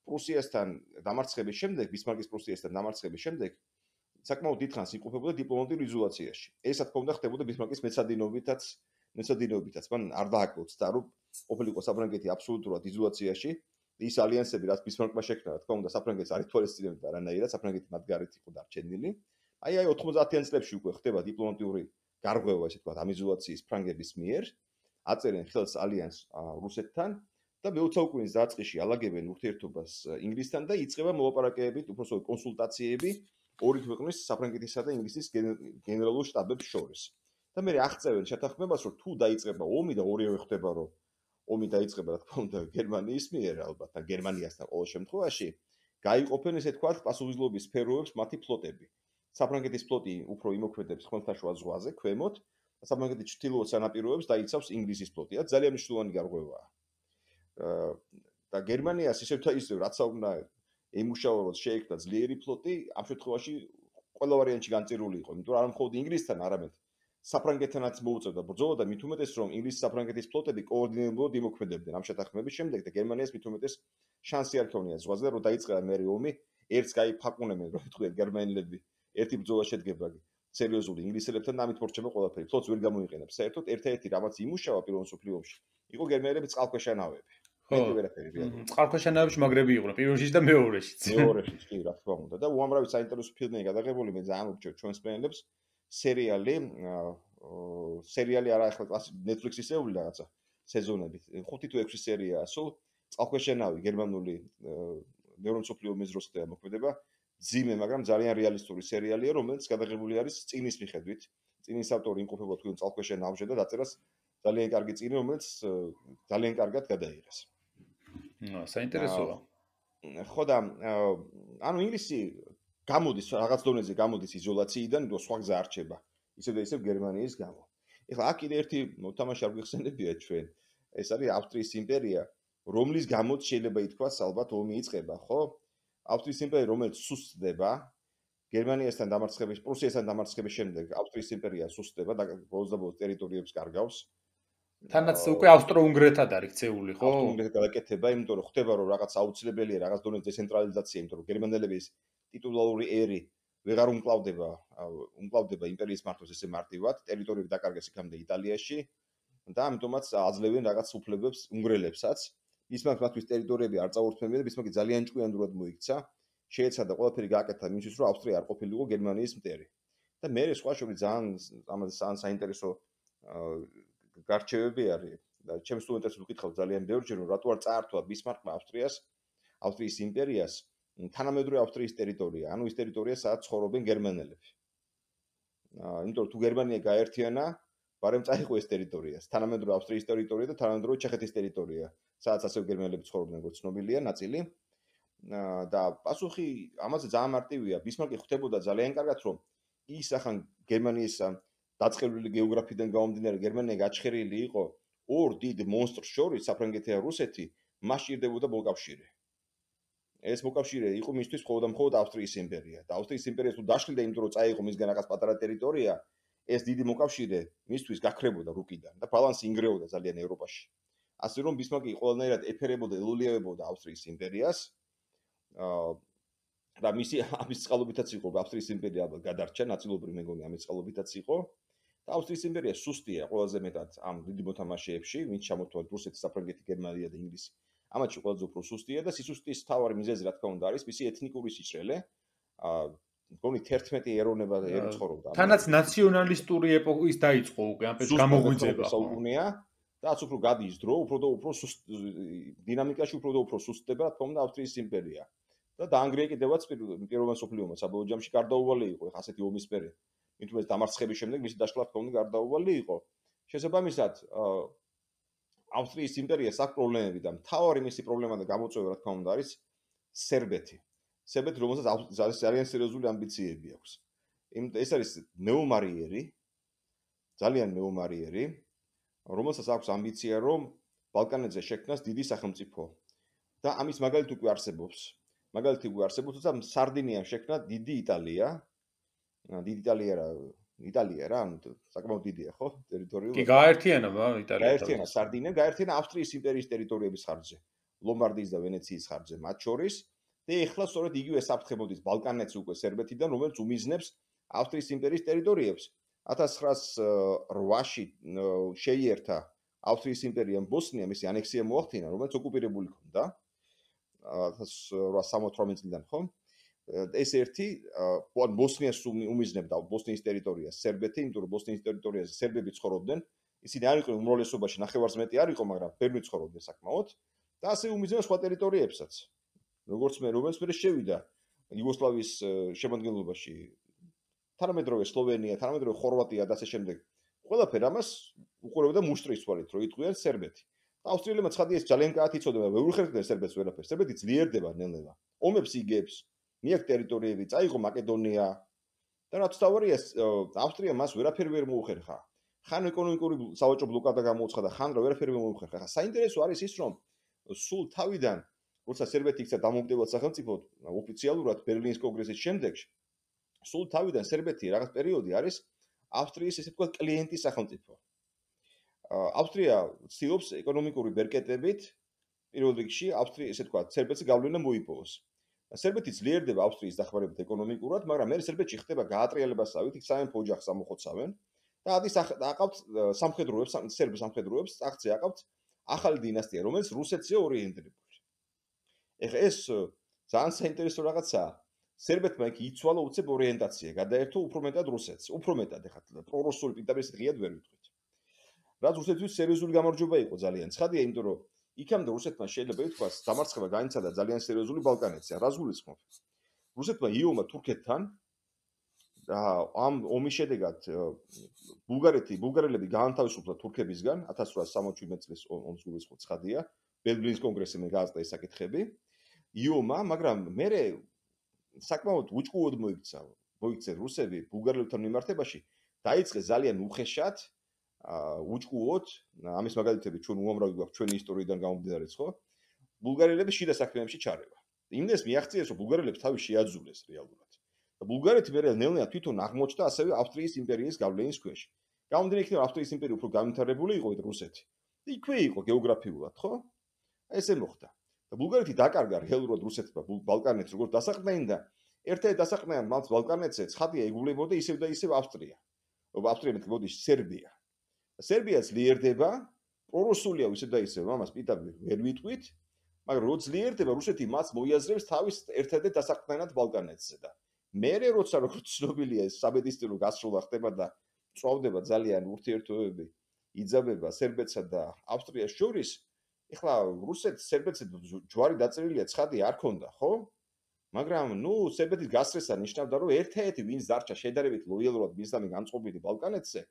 პრუსიასთან დამარცხების შემდეგ, ბისმარკის პრუსიასთან დამარცხების შემდეგ საკმაოდ დიდხანს იმყოფებოდა დიპლომატიურ იზოლაციაში. ეს რა თქმა უნდა ხდებოდა ბისმარკის მეცადინეობითაც, მეცადინეობითაც. მან არ დააკლოცა, რომ ყოფილიყო საფრანგეთი აბსოლუტურად იზოლაციაში. ის ალიანსები, რაც ბისმარკმა შექმნა, რა თქმა უნდა, საფრანგეთს არ ითვალისწინებდა არანაირად, საფრანგეთი მათ გარეთ იყო დარჩენილი. აი აი ოთხმოცდაათიან წლებში უკვე ხდება დიპლომატიური გარღვევა, ესე ვთქვათ, ამ იზოლაციის ფრანგების მიერ. აწერენ ხელს ალიანს რუსეთთან და მეოცე საუკუნის დაწყისში ალაგებენ ურთიერთობას ინგლისთან და იწყება მოლაპარაკებები, უბრალოდ კონსულტაციები ორი ქვეყნის საფრანგეთისა და ინგლისის გენერალურ შტაბებს შორის. და მე აღწევენ შეთანხმებას, რომ თუ დაიწყება ომი და ორივე ხდება, რომ ომი დაიწყება, რა თქმა უნდა, გერმანიის მიერ ალბათ, და გერმანიასთან ყოველ შემთხვევაში, გაიყოფენ ესე თქვათ პასუხისმგებლობის სფეროებს მათი ფლოტები. საფრანგეთის ფლოტი უფრო იმოქმედებს ხმელთაშუა ზღვაზე, ქვემოთ, და საფრანგეთის ჩრდილოეთ სანაპიროებს დაიცავს ინგლისის ფლოტი. ეს ძალიან მნიშვნელოვანი გარღვევაა. და გერმანიას ისევ და ისევ რაც უნდა ემუშავა, რომ შეექმნა ძლიერი ფლოტი, ამ შემთხვევაში ყველა ვარიანტში განწირული იყო, იმიტომ რომ არა მხოლოდ ინგლისთან, არამედ საფრანგეთთანაც მოუწევდა ბრძოლა და მით უმეტეს რომ ინგლისის საფრანგეთის ფლოტები კოორდინირებულად იმოქმედებდნენ ამ შეთანხმების შემდეგ და გერმანიას მით უმეტეს შანსი არ ქონია ზღვაზე, რომ დაიწყება მერე ომი, ერთს გაიფაყუნებენ, რომ ეთქვიათ გერმანელები, ერთი ბრძოლა შედგება სერიოზული ინგლისელებთან და ამით მორჩება ყველაფერი. ფლოტს ვერ გამოიყენებს. საერთოდ ერთ-ერთი რამაც იმუშავა პირველ მსოფლიო ომში, იყო გერმანელების წყალქვეშა ნავები. ხო, წყალქვეშა ნავებში მაგრები იყვნენ პირველშიც და მეორეშიც. მეორეშიც კი, რა თქმა უნდა. და უამრავი საინტერესო ფილმია გადაღებული, მე ძალიან ვურჩევ ჩვენს სპეციალებს. სერიალი, სერიალი არა ახლა Netflix-ის ეული რაღაცა სეზონებით. ხუთი თუ ექვსი სერიაა, სულ წყალქვეშა ნავი გერმანული მეორე მსოფლიო ომის დროს ხდება მოქმედება. ძიმე, მაგრამ ძალიან რეალისტური სერიალია, რომელიც გადაღებული არის წინის მიხედვით. წინის ავტორი იმყოფება თქვენ წყალქვეშა ნავზე და დაწერას ძალიან კარგი წინი, რომელიც ძალიან კარგად გადაიღეს. აა, საინტერესოა. ხო და ანუ ინგლისი გამოდის რაღაც დონეზე გამოდის იზოლაციიდან, და სხვა გზა არ რჩება. ისევ და ისევ გერმანიის გამო. ეხლა აქ კიდე ერთი მოთამაშე არ გვიხსენებია ჩვენ. ეს არის ავსტრიის იმპერია, რომლის გამოც შეიძლება ითქვას ალბათ ომი იწყება, ხო? ავსტრიის იმპერია, რომელიც სუსტდება, გერმანიასთან დამარცხების, პრუსიასთან დამარცხების შემდეგ ავსტრიის იმპერია სუსტდება და ბოლოს და ბოლოს ტერიტორიებს კარგავს. თანაც უკვე ავსტრო-უნგრეთად არის ქცეული, ხო? ავსტრო-უნგრეთად გადაკეთება, იმიტომ რომ ხდება რომ რაღაც აუცილებელია რაღაც დონე დეცენტრალიზაცია, იმიტომ რომ გერმანელების ტიტულარული ერი ვეღარ უმკლავდება, უმკლავდება იმპერიის მართვას ესე მარტივად, ტერიტორიები დაკარგეს იქამდე იტალიაში და ამიტომაც აძლევენ რაღაც უფლებებს უნგრელებსაც. ბისმარკს მათთვის ტერიტორიები არ წაურთმევია და ბისმარკი ძალიან ჭკვიანურად მოიქცა. შეეცადა ყველაფერი გააკეთა იმისთვის, რომ ავსტრია არ ყოფილიყო გერმანიის მტერი. და მე სხვა შორის ძალიან ამაზე ძალიან საინტერესო გარჩევები არის და ჩემს სტუდენტებს ვკითხავ ძალიან ბევრჯერ, რომ რატო არ წაართვა ბისმარკმა ავსტრიას, ავსტრიის იმპერიას თანამედროვე ავსტრიის ტერიტორია, ანუ ის ტერიტორია, სადაც ცხოვრობენ გერმანელები. აა, იმიტომ რომ თუ გერმანია გაერთიანა, ბარემ წაიღო ეს ტერიტორია, თანამედროვე ავსტრიის ტერიტორია და თანამედროვე ჩეხეთის ტერიტორია, სადაც ასევე გერმანელები ცხოვრობდნენ, როგორც ცნობილია, ნაწილი. და პასუხი ამაზე ძალიან მარტივია. ბისმარკი ხვდებოდა ძალიან კარგად, რომ ის ახან გერმანიის დაწყებული გეოგრაფიიდან გამომდინარე გერმანია გაჩხერილი იყო ორ დიდ მონსტრს შორის, საფრანგეთი და რუსეთი, მას ჭირდებოდა მოკავშირე. ეს მოკავშირე იყო მისთვის მხოლოდ და მხოლოდ ავსტრიის იმპერია. და ავსტრიის იმპერია თუ დაშლიდა, იმიტომ რომ წაიღო მისგან რაღაც პატარა ტერიტორია, ეს დიდი მოკავშირე მისთვის გაქრებოდა რუკიდან და ბალანსი ინგრეოდა ძალიან ევროპაში. ასე რომ ბისმარკი ყველანაირად ეფერებოდა, ელოლიებოდა ავსტრიის იმპერიას. აა და მისი ამის წყალობითაც იყო, რომ ავსტრიის იმპერია ალბათ გადარჩა, ნაწილობრივ მე მგონი ამის წყალობითაც იყო. და ავსტრიის იმპერია სუსტია ყველაზე მეტად ამ დიდი მოთამაშეებში, ვინც ჩამოთვალეთ რუსეთი, საფრანგეთი, გერმანია და ინგლისი. ამათში ყველაზე უფრო სუსტია და სისუსტის მთავარი მიზეზი რა თქმა უნდა არის მისი ეთნიკური სიჭრელე. აა მგონი თერთმეტი ეროვნება ერი ცხოვრობდა. თანაც ნაციონალისტური ეპოქის დაიწყო უკვე ამ პერიოდში გამოღვიძება საუკუნეა და რაც უფრო გადის დრო, უფრო და უფრო დინამიკაში უფრო და უფრო სუსტდება რა თქმა უნდა ავსტრიის იმპერია. და დაანგრია კიდევაც პირველ მსოფლიო ომს საბოლოო ჯამში გარდაუვალი იყო ხა ასეთი ომის პერიოდი. მithumეს დამარცხების შემდეგ მისი დაშლა რა თქმა უნდა გარდაუვალი იყო. შესაბამისად ავსტრიის იმპერიას აქვს პრობლემები და მთავარი მისი პრობლემა და გამოწვევა რა თქმა უნდა არის სერბეთი. სერბეთი რომელსაც ძალიან სერიოზული ამბიციები აქვს. ეს არის მეომარიერი, ძალიან მეომარიერი, რომელსაც აქვს ამბიცია რომ ბალკანეთზე შექმნას დიდი სახელმწიფო. და ამის მაგალითი უკვე არსებობს. მაგალითი უკვე არსებობს, თუმცა სარდინიამ შექმნა დიდი იტალია. დიდი იტალია რა იტალია რა, ანუ საკმაოდ დიდია, ხო? ტერიტორიულად. კი, გააერთიანა იტალია. გააერთიანა სარდინია, გააერთიანა ავსტრიის იმპერიის ტერიტორიების ხარჯზე, ლომბარდიის და ვენეციის ხარჯზე მათ შორის. და ეხლა სწორედ იგივე საფრთხე მოდის ბალკანეთს უკვე სერბეთიდან, რომელიც უმიზნებს ავსტრიის იმპერიის ტერიტორიებს. ათას ცხრაას რვაში შეიერთა ავსტრიის იმპერიამ ბოსნია, მისი ანექსია მოახდინა, რომელიც ოკუპირებული ჰქონდა. ათას რვაას სამოცდაოთხმეტ წლიდან, ხო? ეს ერთი ბოსნიას უმიზნებდა ბოსნიის ტერიტორიას სერბეთი, იმიტომ რომ ბოსნიის ტერიტორიაზე სერბები ცხოვრობდნენ. ისინი არ იყვნენ უმრავლესობაში, ნახევარს მეტი არ იყო, მაგრამ ბევრი ცხოვრობდნენ საკმაოდ და ასე უმიზნებს სხვა ტერიტორიებსაც. როგორც მე, რომელიც მე შევიდა იუგოსლავიის შემადგენლობაში, თანამედროვე სლოვენია, თანამედროვე ხორვატია და ასე შემდეგ. ყველაფერი ამას უყურებდა მუშტრის თვალით, რომ იტყვიან სერბეთი. და ავსტრიელებმა ცხადი ეს ძალიან კარგად იცოდნენ, ვერ უხერხდნენ სერბეთს ვერაფერს. სერბეთი ძლიერდება ნელ-ნელა. ომებს იგებს, მიაქვს ტერიტორიები, წაიღო მაკედონია და რაც თავარია, ავსტრია მას ვერაფერი ვერ მოუხერხა. ხან ეკონომიკური სავაჭრო ბლოკადა გამოუცხადა, ხან რა ვერაფერი ვერ მოუხერხა. ხა საინტერესო არის ის, რომ სულ თავიდან როცა სერბეთი იქცა დამოუკიდებლად სახელმწიფოდ, ოფიციალურად ბერლინის კონგრესის შემდეგ, სულ თავიდან სერბეთი რაღაც პერიოდი არის ავსტრიის ესე ვთქვათ კლიენტი სახელმწიფო. ავსტრია ცდილობს ეკონომიკური ბერკეტებით პირველ რიგში ავსტრია ესე ვთქვათ სერბეთს გავლენა მოიპოვოს. სერბეთი ძლიერდება ავსტრიის დახმარებით ეკონომიკურად, მაგრამ მე სერბეთში ხდება გაატრიალებასავით, იქ სამეფო ოჯახს ამოხოცავენ და ადის აყავთ სამხედროებს, სერბ სამხედროებს, აქცე აყავთ ახალი დინასტია, რომელიც რუსეთზე ორიენტირებული. ეხლა ეს ძალიან საინტერესო რაღაცაა. სერბეთმა იქ იცვალა უცებ ორიენტაცია, გადაერთო უფრო მეტად რუსეთს, უფრო მეტად ეხლა პრორუსული პირდაპირ ღიად ვერ ვიტყვით. რაც რუსეთთვის სერიოზული გამარჯვება იყო ძალიან. ცხადია, იმიტომ რომ იქამდე რუსეთმა შეიძლება ითქვას, დამარცხება განიცადა ძალიან სერიოზული ბალკანეთზე. რას გულისხმობ? რუსეთმა იომა თურქეთთან და ამ ომის შედეგად ბულგარეთი, ბულგარელები გაანთავისუფლა თურქებისგან ათას რვაას სამოცდაშვიდ წლის ომს გულისხმობ, ცხადია. ბერლინის კონგრესმა გააზრდა ეს საკითხები. იომა, მაგრამ მერე საკმაოდ უჭკუოდ მოიქცა, მოიქცე რუსები ბულგარელებთან მიმართებაში, დაიწყეს ძალიან უხეშად, უჭკუოდ, ამის მაგალითები ჩვენ უამრავი გვაქვს ჩვენი ისტორიიდან გამომდინარეც, ხო? ბულგარელები შიდა საქმეებში ჩარევა. იმდეს მიაღწიეს, რომ ბულგარელებს თავი შეაძულეს რეალურად. და ბულგარეთი მერე ნელ-ნელა თვითონ აღმოჩნდა ასევე ავსტრიის იმპერიის გავლენის ქვეშ. გამომდინარე იქიდან, რომ ავსტრიის იმპერია უფრო განვითარებული იყო, ვიდრე რუსეთი. იქვე იყო გეოგრაფიულად, ხო? ესე მოხდა. და ბულგარეთი დაკარგა რეალურად რუსეთმა ბალკანეთს როგორც დასაყრდენი და ერთ-ერთი დასაყრდენად მათ ბალკანეთზე ცხადია ეგულებოდა ისევ და ისევ ავსტრია. ავსტრია მეტყოდი სერბია. სერბია ძლიერდება, პრორუსულია ისევ და ისევ, ამას პირდაპირ ვერ ვიტყვით, მაგრამ რო ძლიერდება რუსეთი მას მოიაზრებს თავის ერთ-ერთ დასაყრდენად ბალკანეთზე და მერე როცა როგორც ცნობილია ეს საბედისწერო გასროლა ხდება და წვავდება ძალიან ურთიერთობები იძაბება სერბეთსა და ავსტრიას შორის, ეხლა რუსეთს სერბეთს ჯვარი დაწერილია ცხადი არ ქონდა, ხო? მაგრამ ნუ სერბეთის გასწრესა ნიშნავდა რომ ერთ-ერთი ვინც დარჩა შედარებით ლოიალურად მისამე განწყობილი ბალკანეთზე,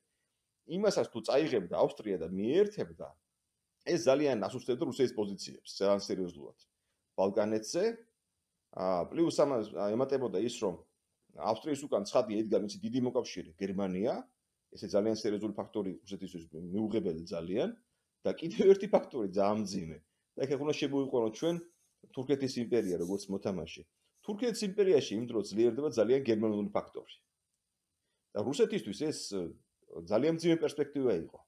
იმასაც თუ წაიღებდა ავსტრია და მიერთებდა, ეს ძალიან ასუსტებდა რუსეთის პოზიციებს, ძალიან სერიოზულად. ბალკანეთზე, აა პლუს ამას ემატებოდა ის რომ ავსტრიის უკან ცხადი ედგა მისი დიდი მოკავშირე გერმანია, ესე ძალიან სერიოზული ფაქტორი რუსეთისთვის მიუღებელი ძალიან და კიდევ ერთი ფაქტორი ძალიან მძიმე. და ეხლა უნდა შემოვიყვანოთ ჩვენ თურქეთის იმპერია როგორც მოთამაშე. თურქეთის იმპერიაში იმ დროს ძლიერდება ძალიან გერმანული ფაქტორი. და რუსეთისთვის ეს ძალიან მძიმე პერსპექტივა იყო.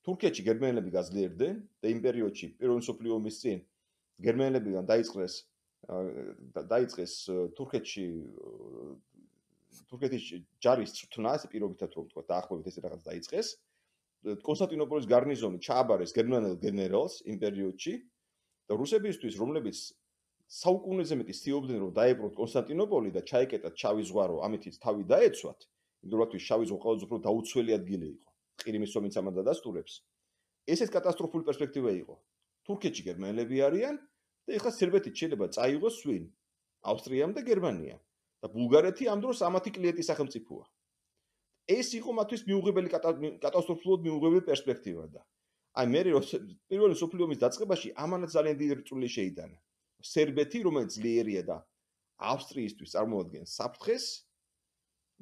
თურქეთში გერმანელები გაძლიერდნენ და იმ პერიოდში პირველი მსოფლიო ომის წინ გერმანელებიდან დაიწყეს დაიწყეს თურქეთში თურქეთის ჯარის წვრთნა, ეს პირობითად რომ თქვა დაახლოებით ეს რაღაც დაიწყეს. კონსტანტინოპოლის გარნიზონი ჩააბარეს გერმანელ გენერალს იმ პერიოდში და რუსებისთვის, რომლებიც საუკუნეზე მეტი ცდილობდნენ რომ დაეპყროთ კონსტანტინოპოლი და ჩაეკეტათ შავი ზღვა, რომ ამითიც თავი დაეცვათ, იმდროინდელთვის შავი ზღვა ყველაზე უფრო დაუცველი ადგილი იყო. ყირიმის ომიც ამან დადასტურებს. ესეც კატასტროფული პერსპექტივა იყო. თურქეთში გერმანელები არიან და ეხლა სერბეთით შეიძლება წაიღოს ვინ? ავსტრიამ და გერმანიამ. და ბულგარეთი ამ დროს ამათი კლიენტი სახელმწიფოა. ეს იყო მათთვის მიუღებელი კატასტროფულად მიუღებელი პერსპექტივა და აი მე პირველი მსოფლიო ომის დაწყებაში ამანაც ძალიან დიდი რწული შეიტანა. სერბეთი, რომელიც ძლიერია და ავსტრიისთვის წარმოადგენს საფრთხეს,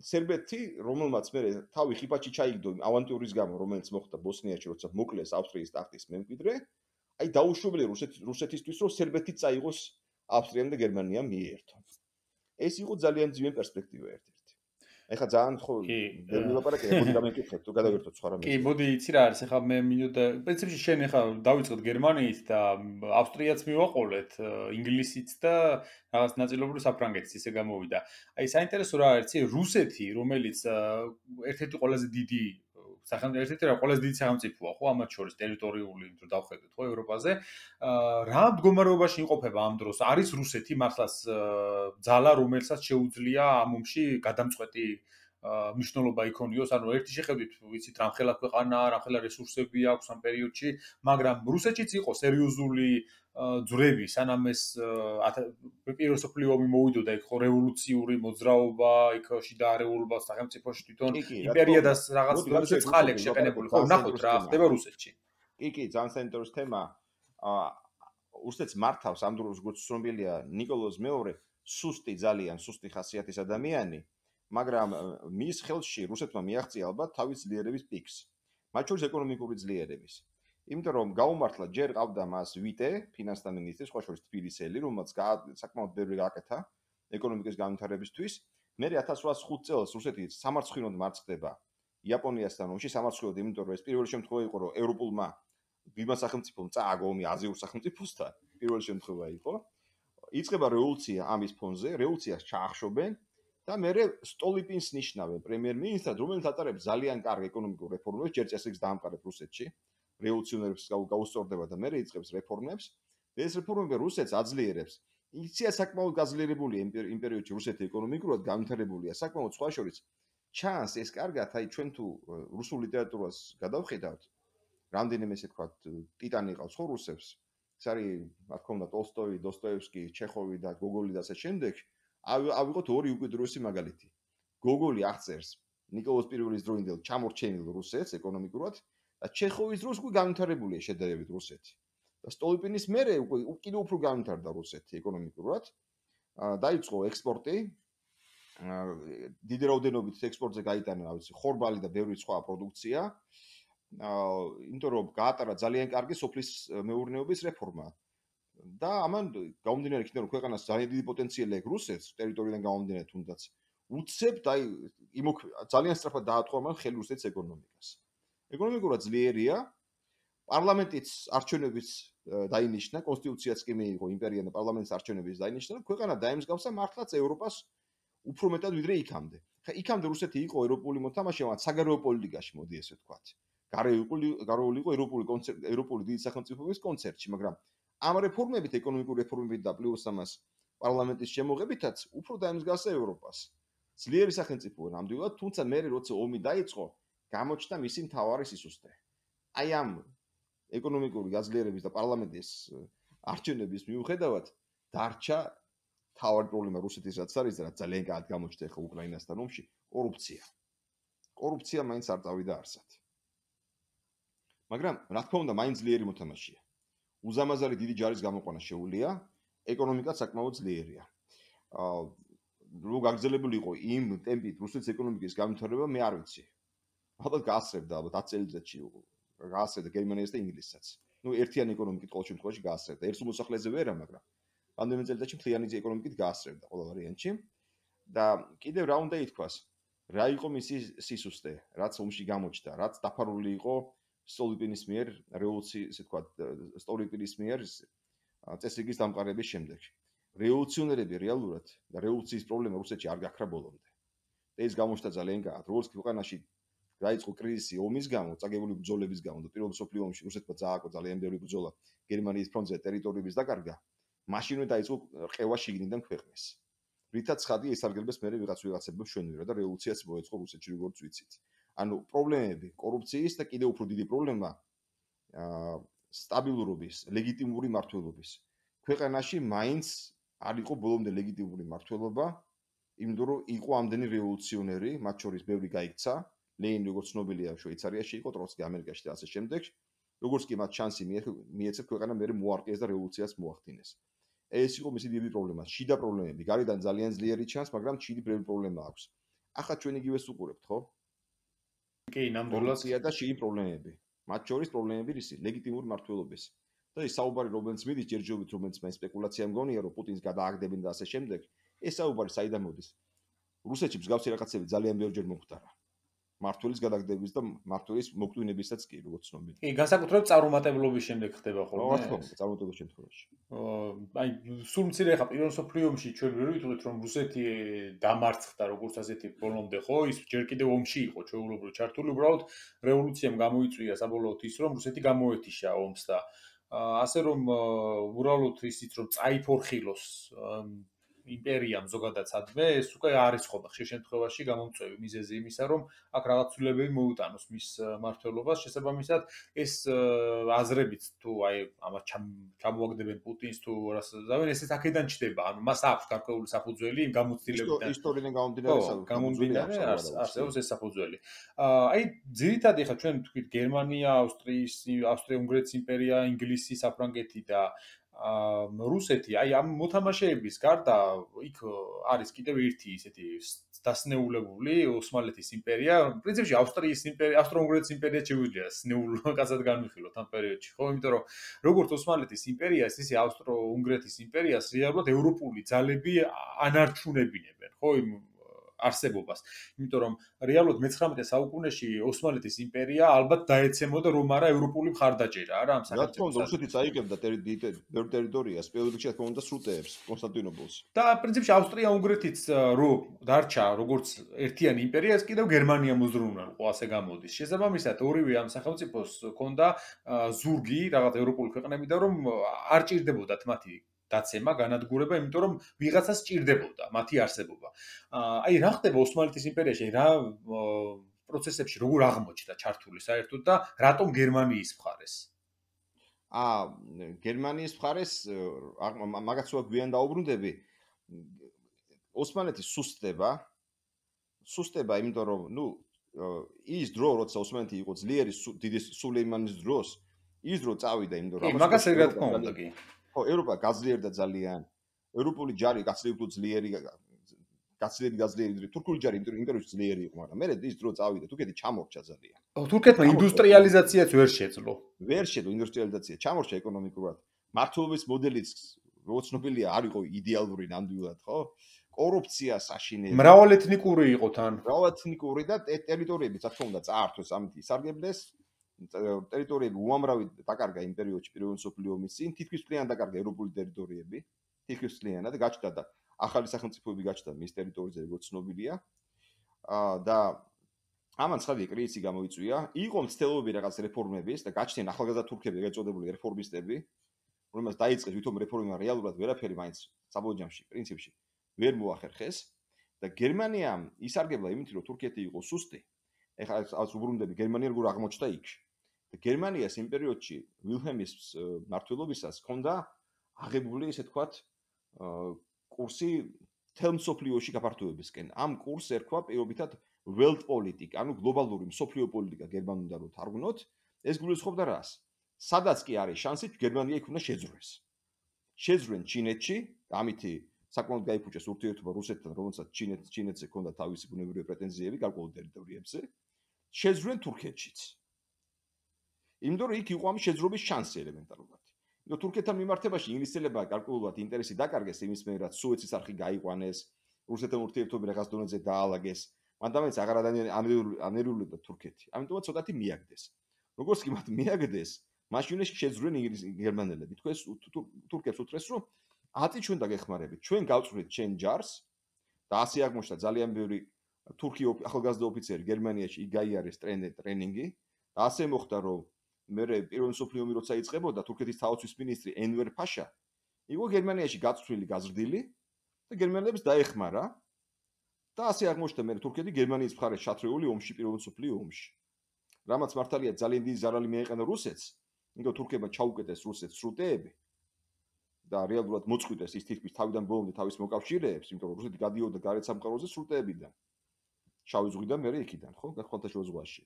სერბეთი, რომელმაც მე თავი ხიფათში ჩაიგდო ავანტიურის გამო, რომელიც მოხდა ბოსნიაში, როცა მოკლეს ავსტრიის ტახტის მემკვიდრე, აი დაუშვებელია რუსეთისთვის, რომ სერბეთი წაიღოს ავსტრიამ და გერმანიამ მიერთონ. ეს იყო ძალიან მძიმე პერსპექტივა ერთ-ერთი. ეხლა ძალიან ხო ვერ ვილაპარაკე, მოდი დამეკითხეთ, თუ გადავერთოთ სხვა რამე. კი, მოდი იცი რა არის, ეხლა მე მინუტა, პრინციპში შენ ეხლა დავიწყოთ გერმანიით და ავსტრიაც მივაყოლეთ, ინგლისიც და რაღაც ნაწილობრივ საფრანგეთიც ისე გამოვიდა. აი საინტერესო რა არის, რუსეთი, რომელიც ერთ-ერთი ყველაზე დიდი სახელმწიფო ერთ-ერთი რა ყველაზე დიდი სახელმწიფოა, ხო, ამათ შორის ტერიტორიული, რომ დავხედოთ, ხო, ევროპაზე. რა მდგომარეობაში იმყოფება ამ დროს? არის რუსეთი მართლაც ძალა, რომელსაც შეუძლია ამ ომში გადამწყვეტი მნიშვნელობა იქონიოს, ანუ ერთი შეხედვით ვიცით რამხელა ქვეყანა, რამხელა რესურსები აქვს ამ პერიოდში, მაგრამ რუსეთშიც იყო სერიოზული ძვრები, სანამ ეს პირველი მსოფლიო ომი მოვიდოდა, იქ ხო რევოლუციური მოძრაობა, იქ შიდა არეულობა სახელმწიფოში თვითონ იმპერია და რაღაც რუსეთს წყალი შეყენებული, ხო, ნახოთ რა ხდება რუსეთში. კი, კი, ძალიან საინტერესო თემა. რუსეთს მართავს ამ დროს როგორც ცნობილია ნიკოლოზ მეორე, სუსტი ძალიან, სუსტი ხასიათის ადამიანი. მაგრამ მის ხელში რუსეთმა მიაღწია ალბათ თავის ძლიერების პიკს. მათ შორის ეკონომიკური ძლიერების. იმიტომ რომ გაუმართლა ჯერ ყავდა მას ვიტე, ფინანსთა მინისტრი, სხვა შორის თბილისელი, რომელმაც საკმაოდ ბევრი გააკეთა ეკონომიკის განვითარებისთვის. მერე ათას რვაასი ხუთი წელს რუსეთი სამარცხვინოდ მარცხდება იაპონიასთან ომში, სამარცხვინოდ, იმიტომ რომ ეს პირველი შემთხვევა იყო, რომ ევროპულმა ვიმა სახელმწიფომ წააგო ომი აზიურ სახელმწიფოსთან, პირველი შემთხვევა იყო. იწყება რევოლუცია ამის ფონზე, რევოლუციას ჩაახშობენ და მერე სტოლიპინს ნიშნავენ პრემიერ-მინისტრად, რომელიც ატარებს ძალიან კარგ ეკონომიკურ რეფორმებს, ჯერ წესრიგს დაამყარებს რუსეთში, რევოლუციონერებს გაუსწორდება და მერე იწყებს რეფორმებს. ეს რეფორმები რუსეთს აძლიერებს. იქცია საკმაოდ გაძლიერებული იმ პერიოდში რუსეთი ეკონომიკურად განვითარებულია, საკმაოდ სხვა შორის ჩანს ეს კარგად, აი ჩვენ თუ რუსულ ლიტერატურას გადავხედავთ, რამდენიმე ესე ვთქვათ, ტიტანი ყავს ხო რუსებს. ეს არის, რა თქმა უნდა, ტოლსტოი, დოსტოევსკი, ჩეხოვი და გოგოლი და ასე შემდეგ. ავიღოთ ორი უკიდურესი მაგალითი. გოგოლი აღწერს ნიკოლოზ პირველის დროინდელ ჩამორჩენილ რუსეთს ეკონომიკურად და ჩეხოვის დროს უკვე განვითარებულია შედარებით რუსეთი. და სტოლიპინის მერე უკვე კიდევ უფრო განვითარდა რუსეთი ეკონომიკურად. დაიწყო ექსპორტი. დიდი რაოდენობით ექსპორტზე გაიტანა, რა ვიცი, ხორბალი და ბევრი სხვა პროდუქცია. იმიტომ რომ გაატარა ძალიან კარგი სოფლის მეურნეობის რეფორმა. და ამან გამომდინარე იქიდან რომ ქვეყანას ძალიან დიდი პოტენციალი აქვს რუსეთს ტერიტორიიდან გამომდინარე თუნდაც უცებთ აი ძალიან სწრაფად დაატყვა მან ხელი რუსეთის ეკონომიკას. ეკონომიკურად ძლიერია პარლამენტის არჩევნების დაინიშნა, კონსტიტუციაც კი მიიღო იმპერიამ და პარლამენტის არჩევნების დაინიშნა, ქვეყანა დაემსგავსა მართლაც ევროპას უფრო მეტად ვიდრე იქამდე. ხა იქამდე რუსეთი იყო ევროპული მოთამაშე, მაგრამ საგარეო პოლიტიკაში მოდი ესე ვთქვათ. გარეული გარეული იყო ევროპული კონცერტ, ევროპული დიდი სახელმწიფოების კონცერტში, მაგრამ ამ რეფორმებით, ეკონომიკური რეფორმებით და პლუს ამას პარლამენტის შემოღებითაც უფრო დაემსგავსა ევროპას. ძლიერი სახელმწიფო ნამდვილად, თუმცა მე როცა ომი დაიწყო, გამოჩნდა მისი მთავარი სისუსტე. აი ამ ეკონომიკური გაძლიერების და პარლამენტის არჩევნების მიუხედავად დარჩა თავარი პრობლემა რუსეთის რაც არის და რაც ძალიან კარგად გამოჩნდა ახლა უკრაინასთან ომში, კორუფცია. კორუფცია მაინც არ წავიდა არსად. მაგრამ რა თქმა უნდა, მაინც ძლიერი მოთამაშეა. უზამაზარი დიდი ჯარის გამოყვანა შეუძლია, ეკონომიკა საკმაოდ ძლიერია. აა რო გაგრძელებული იყო იმ ტემპით რუსეთის ეკონომიკის განვითარება, მე არ ვიცი. ალბათ გაასწრებდა, ალბათ ათი წელიწადში გაასწრებდა გერმანიას და ინგლისსაც. ნუ ერთიანი ეკონომიკით ყოველ შემთხვევაში გაასწრებდა. ერთ მოსახლეზე ვერა, მაგრამ რამდენიმე წელიწადში მთლიანი ეკონომიკით გაასწრებდა ყოველ ვარიანტში. და კიდევ რა უნდა ითქვას? რა იყო მისი სისუსტე, რაც ომში გამოჩნდა, რაც დაფარული იყო სტოლიპინის მიერ რევოლუციის, ესე ვთქვათ, სტოლიპინის მიერ წესრიგის დამყარების შემდეგ. რევოლუციონერები რეალურად და რევოლუციის პრობლემა რუსეთში არ გაქრა ბოლომდე. ეს გამოჩნდა ძალიან კარგად. როგორც ქვეყანაში დაიწყო კრიზისი ომის გამო, წაგებული ბრძოლების გამო და პირველ მსოფლიო ომში რუსეთმა წააგო ძალიან ბევრი ბრძოლა გერმანიის ფრონტზე ტერიტორიების დაკარგა, მაშინვე დაიწყო ყევა შიგნიდან ქვეყნის. რითაც ხადი ესარგებლეს მერე ვიღაც ვიღაცებმა ჩვენვირა და რევოლუციაც მოეწყო რუსეთში, როგორც ვიცით. ანუ პრობლემები, კორუფციის და კიდევ უფრო დიდი პრობლემა აა სტაბილურობის, ლეგიტიმური მმართველობის. ქვეყანაში მაინც არ იყო ბოლომდე ლეგიტიმური მმართველობა, იმიტომ რომ იყო ამდენი რევოლუციონერი, მათ შორის ბევრი გაიქცა, ლენინი როგორც ცნობილია შვეიცარიაში იყო, ტროცკი ამერიკაში და ასე შემდეგ. როგორც კი მათ შანსი მიეცეს ქვეყანა მერე მოარყიეს და რევოლუციას მოახდინეს. ეს იყო მისი დიდი პრობლემა, შიდა პრობლემები, გარედან ძალიან ძლიერი ჩანს, მაგრამ შიდი ბევრი პრობლემა აქვს. ახლა ჩვენ იგივეს უყურებთ, ხო? კი, ნამდვილად და შიდი პრობლემები. მათ შორის პრობლემები რისი? ლეგიტიმური მმართველობის. და ის საუბარი რომელიც მიდის ჯერჯერობით, რომელიც მე სპეკულაცია მგონია, რომ პუტინს გადააგდებენ და ასე შემდეგ, ეს საუბარი საიდან მოდის? რუსეთში მსგავსი რაღაცები ძალიან ბევრჯერ მომხდარა. მმართველის გადაგდების და მმართველის მოკვდინებისაც კი, როგორც ცნობილი. კი, განსაკუთრებით წარუმატებლობის შემდეგ ხდება ხოლმე. რა თქმა უნდა, წარუმატებლობის შემთხვევაში. აი, სულ მცირე ხა პირველ მსოფლიო ომში ჩვენ ვერ ვიტყვით, რომ რუსეთი დამარცხდა როგორც ასეთი ბოლომდე, ხო? ის ჯერ კიდევ ომში იყო ჩვეულებრივ ჩართული, უბრალოდ რევოლუციამ გამოიწვია საბოლოოდ ის, რომ რუსეთი გამოეთიშა ომს და ასე რომ უბრალოდ ისიც რომ წაიფორხილოს იმპერიამ ზოგადად სადმე, ეს უკვე არის ხოლმე ხშირ შემთხვევაში გამომწვევი მიზეზი იმისა, რომ აქ რაღაც ცვლილებები მოუტანოს მის მმართველობას, შესაბამისად ეს აზრებით თუ აი ამას ჩამოაგდებენ პუტინს თუ რას ზავენ, ესეც აქედან ჩდება. ანუ მას აქვს გარკვეული საფუძველი იმ გამოცდილებიდან. ისტორიიდან გამომდინარე გამომდინარე არსებობს ეს საფუძველი. აი ძირითადად ხა ჩვენ თქვით გერმანია, ავსტრიის, ავსტრია-უნგრეთის იმპერია, ინგლისი, საფრანგეთი და აა რუსეთი, აი ამ მოთამაშეების გარდა იქ არის კიდევ ერთი ისეთი დასნეულებული ოსმალეთის იმპერია, პრინციპში ავსტრიის იმპერია, ავსტრო-უნგრეთის იმპერია შეგვიძლია სნეულ კაცად განვიხილოთ ამ პერიოდში, ხო? იმიტომ რომ როგორც ოსმალეთის იმპერიას, ისე ავსტრო-უნგრეთის იმპერიას რეალურად ევროპული ძალები ანარჩუნებინებენ, ხო? იმ არსებობას. იმიტომ რომ რეალურად მეცხრამეტე საუკუნეში ოსმალეთის იმპერია ალბათ დაეცემოდა რომ არა ევროპული მხარდაჭერა, არა ამ სახელმწიფოს. რა თქმა უნდა, რუსეთი წაიღებდა ბევრ ტერიტორიას, პირველ რიგში რა თქმა უნდა სრუტეებს, კონსტანტინოპოლს. და პრინციპში ავსტრია-უნგრეთიც რო დარჩა როგორც ერთიანი იმპერია, ეს კიდევ გერმანია მოძრაუნალყო, ასე გამოდის. შესაბამისად, ორივე ამ სახელმწიფოს ჰქონდა ზურგი რაღაც ევროპული ქვეყნებიდან, რომ არ ჭირდებოდათ მათი დაცემა, განადგურება, იმიტომ რომ ვიღაცას ჭირდებოდა მათი არსებობა. აი რა ხდება ოსმალეთის იმპერიაში, რა პროცესებში როგორ აღმოჩნდა ჩართული საერთოდ და რატომ გერმანიის მხარეს? აა გერმანიის მხარეს მაგაც ვარ გვიან დაუბრუნდები. ოსმალეთის სუსტდება, სუსტდება, იმიტომ რომ ნუ ის დრო, როცა ოსმალეთი იყო ძლიერი დიდი სულეიმანის დროს, ის დრო წავიდა, იმიტომ რომ მაგას რა თქმა უნდა კი. ხო, ევროპა გაძლიერდა ძალიან. ევროპული ჯარი გაცილებით ძლიერი, გაცილებით გაძლიერდა. თურქული ჯარი იმპერიაში ძლიერი იყო, მაგრამ მერე ის დრო წავიდა, თურქეთი ჩამორჩა ძალიან. თურქეთმა ინდუსტრიალიზაციაც ვერ შეძლო. ვერ შეძლო ინდუსტრიალიზაცია, ჩამორჩა ეკონომიკურად. მართლობის მოდელიც როგორც ცნობილია, არ იყო იდეალური ნამდვილად, ხო? კორუფცია საშინელი. მრავალეთნიკური იყო თან. მრავალეთნიკური და ტერიტორიებიც, რა თქმა უნდა, წაართვეს ამით ისარგებლეს. ტერიტორიები უამრავი დაკარგა იმ პერიოდში პირველ მსოფლიო ომის წინ, თითქმის მთლიანად დაკარგა ევროპული ტერიტორიები, თითქმის მთლიანად გაჩნდა და ახალი სახელმწიფოები გაჩნდა მის ტერიტორიაზე, როგორც ცნობილია. აა და ამან ცხადია კრიზისი გამოიწვია, იყო მცდელობები რაღაც რეფორმების და გაჩნდნენ ახალგაზრდა თურქები, ეგრეთ წოდებული რეფორმისტები, რომელმაც დაიწყეს ვითომ რეფორმებმა რეალურად ვერაფერი მაინც საბოლოო ჯამში პრინციპში ვერ მოახერხეს და გერმანიამ ისარგებლა იმით, რომ თურქეთი იყო სუსტი. ეხლა ეს უბრუნდები გერმანია როგორ აღმოჩნდა იქ. და გერმანიას იმ პერიოდში ვილჰელმის მმართველობისას ჰქონდა აღებული, ესე ვთქვათ, კურსი მთელ მსოფლიოში გაფართოებისკენ. ამ კურსს ერქვა პირობითად Weltpolitik, ანუ გლობალური მსოფლიო პოლიტიკა გერმანულ და რო თარგმნოთ, ეს გულისხმობდა რას? სადაც კი არის შანსი, გერმანია იქ უნდა შეძრეს. შეძრენ ჩინეთში, ამითი საკმაოდ გაიფუჭეს ურთიერთობა რუსეთთან, რომელსაც ჩინეთ ჩინეთზე ჰქონდა თავისი ბუნებრივი პრეტენზიები გარკვეულ ტერიტორიებზე. შეძრენ თურქეთშიც. იმიტომ რომ იქ იყო ამ შეძრობის შანსი ელემენტარულად. იმიტომ თურქეთთან მიმართებაში ინგლისელებმა გარკვეულად ინტერესი დაკარგეს იმის მიერ, რაც სუეცის არხი გაიყვანეს, რუსეთთან ურთიერთობები რაღაც დონეზე დაალაგეს. მანდამაც აღარ ანერიულებდა თურქეთი. ამიტომაც ცოტათი მიაგდეს. როგორც კი მათ მიაგდეს, მაშინ შეძრენ გერმანელები. თქვენ თურქებს უთხრეს, რომ ათი ჩვენ დაგეხმარებით. ჩვენ გავწვრით ჩვენ ჯარს და ასე აღმოჩნდა ძალიან ბევრი თურქი ახალგაზრდა ოფიცერი გერმანიაში იქ გაიარეს ტრენინგი და ასე მოხდა, რომ მე პირველ მსოფლიო ომი როცა იწყებოდა, თურქეთის თავდაცვის მინისტრი ენვერ ფაშა იყო გერმანიაში გაწვრილი, გაზრდილი და გერმანელებს დაეხმარა. და ასე აღმოჩნდა მე თურქეთი გერმანიის მხარეს ჩათრეული ომში პირველ მსოფლიო ომში. რამაც მართალია ძალიან დიდი ზარალი მიაყენა რუსეთს, იმიტომ თურქებმა ჩაუკეტეს რუსეთს სრუტეები და რეალურად მოწყვიტეს ის თითქმის თავიდან ბოლომდე თავის მოკავშირეებს, იმიტომ რომ რუსეთი გადიოდა გარეთ სამყაროზე სრუტეებიდან. შავი ზღვიდან მე იქიდან, ხო, ხმელთაშუა ზღვაში.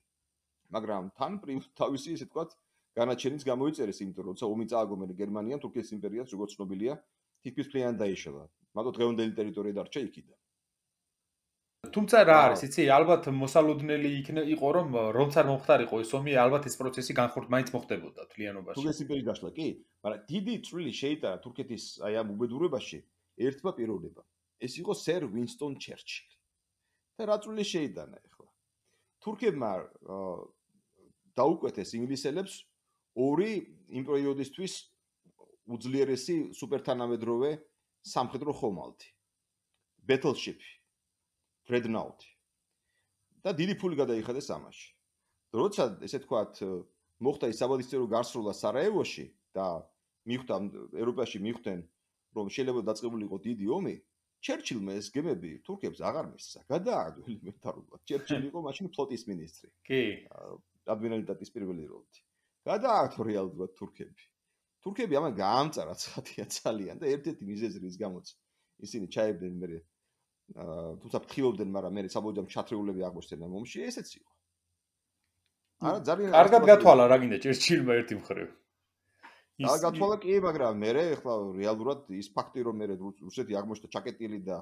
მაგრამ თან თავისი, ესე ვთქვათ, განაჩენიც გამოიწერეს, იმიტომ რომ როცა ომი წააგო მე გერმანიამ თურქეთის იმპერიას, როგორც ცნობილია, თითქმის მთლიანად დაიშალა. მაგრამ დღევანდელი ტერიტორია დარჩა იქიდან. თუმცა რა არის, იცი, ალბათ მოსალოდნელი იყო, რომ რომც არ მომხდარიყო ეს ომი, ალბათ ეს პროცესი განხორციელდა, მაინც მოხდებოდა თლიანობაში. თურქეთის იმპერიის დაშლა, კი, მაგრამ დიდი წვლილი შეიტანა თურქეთის აი ამ უბედურებაში ერთმა პიროვნებამ. ეს იყო სერ ვინსტონ ჩერჩილი. და რა წვლილი შეიტანა ახლა? თურქებმა დაუკვეთეს ინგლისელებს ორი იმ პერიოდისთვის უძლიერესი სუპერთანამედროვე სამხედრო ხომალდი. Battleship Dreadnought. და დიდი ფული გადაიხადეს ამაში. როცა ესე ვთქვათ, მოხდა ის საბალისტრო გარსროლა სარაევოში და მიხვდა ევროპაში მიხვდნენ, რომ შეიძლება დაწყებულიყო დიდი ომი, ჩერჩილმა ეს გემები თურქებს აღარ მისცა. გადააგდო ელემენტარულად. ჩერჩილი იყო მაშინ ფლოტის მინისტრი. კი. ადმირალიტეტის პირველი როლი. გადააგდო რეალურად თურქები. თურქები ამან გაამწარა ცხადია ძალიან და ერთ-ერთი მიზეზი რის გამოც ისინი ჩაებდნენ მე თუმცა ფრთხილობდნენ, მაგრამ მე საბოლოოდ ჩათრეულები აღმოჩნდნენ ომში, ესეც იყო. არა ძალიან კარგად გათვალა რა გინდა ჩერჩილმა ერთი მხრივ. აა გათვალა კი, მაგრამ მე ახლა რეალურად ის ფაქტი რომ მე რუსეთი აღმოჩნდა ჩაკეტილი და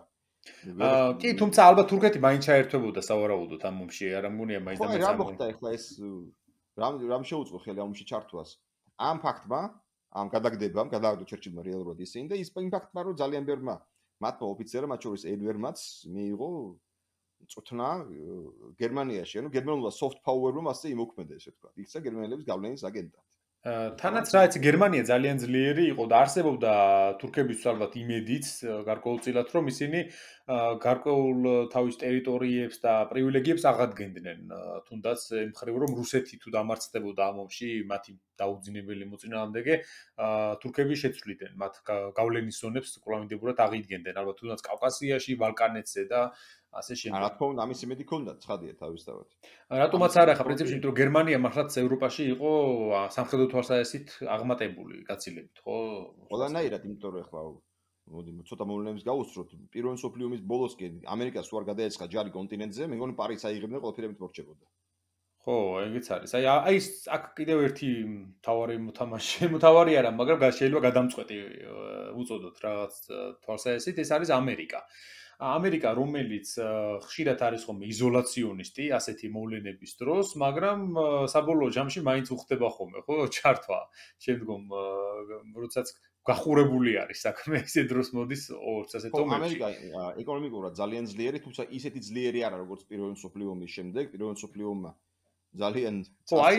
აა კი, თუმცა ალბათ თურქეთი მაინც ჩაერთვებოდა სავარაუდოდ ამ ომში, არ ამგონია მაინც და მაინც. რა მოხდა ახლა ეს რამ რამ შეუწყო ხელი ამ ომში ჩართვას? ამ ფაქტმა, ამ გადაგდებამ, გადააგდო ჩერჩილმა რეალურად ისინი და ის იმ ფაქტმა რომ ძალიან ბევრმა მათმა ოფიცერებმა, მათ შორის ედვერმაც მიიღო წუთნა გერმანიაში, ანუ გერმანულმა soft power-მა მასე იმოქმედა, ესე ვთქვათ. იქცა გერმანელების გავლენის აგენტად. თანაც რა იცი, გერმანია ძალიან ძლიერი იყო და არსებობდა თურქებისთვის ალბათ იმედიც გარკვეულწილად, რომ ისინი გარკვეულ თავის ტერიტორიებს და პრივილეგიებს აღადგენდნენ, თუნდაც იმ მხრივ რომ რუსეთი თუ დამარცხდებოდა ამ ომში, მათი დაუძინებელი მოწინააღმდეგე, თურქები შეცვლიდნენ მათ გავლენის ზონებს კვლავინდებურად აღიდგენდნენ, ალბათ თუნდაც კავკასიაში, ბალკანეთზე და ასე შემდეგ. რა თქმა უნდა, ამის იმედი ჰქონდათ, ცხადია თავისთავად. რატომაც არა, ხა პრინციპში, იმიტომ რომ გერმანია მართლაც ევროპაში იყო სამხედრო თვალსაზრისით აღმატებული გაცილებით, ხო? ყველანაირად, იმიტომ რომ ახლა მოდი ცოტა მოვლენებს გავუსწროთ. პირველ მსოფლიო ომის ბოლოსკენ ამერიკას უარ გადაეცხა ჯარი კონტინენტზე, მე მგონი პარიზს აიღებდნენ, ყველაფერებით მორჩებოდა. ხო, ეგეც არის. აი აი აქ კიდევ ერთი მთავარი მოთამაშე, მოთავარი არა, მაგრამ შეიძლება გადამწყვეტი უწოდოთ რაღაც თვალსაზრისით, ეს არის ამერიკა. ამერიკა, რომელიც ხშირად არის ხომ იზოლაციონისტი ასეთი მოვლენების დროს, მაგრამ საბოლოო ჯამში მაინც უხდება ხოლმე, ხო, ჩართვა. შემდგომ როდესაც გახურებული არის საქმე, ისე დროს მოდის ორც ასეთ ომებში. ამერიკა ეკონომიკურად ძალიან ძლიერი, თუმცა ისეთი ძლიერი არა, როგორც პირველ მსოფლიო ომის შემდეგ. პირველ მსოფლიო ომმა ძალიან ხო, აი,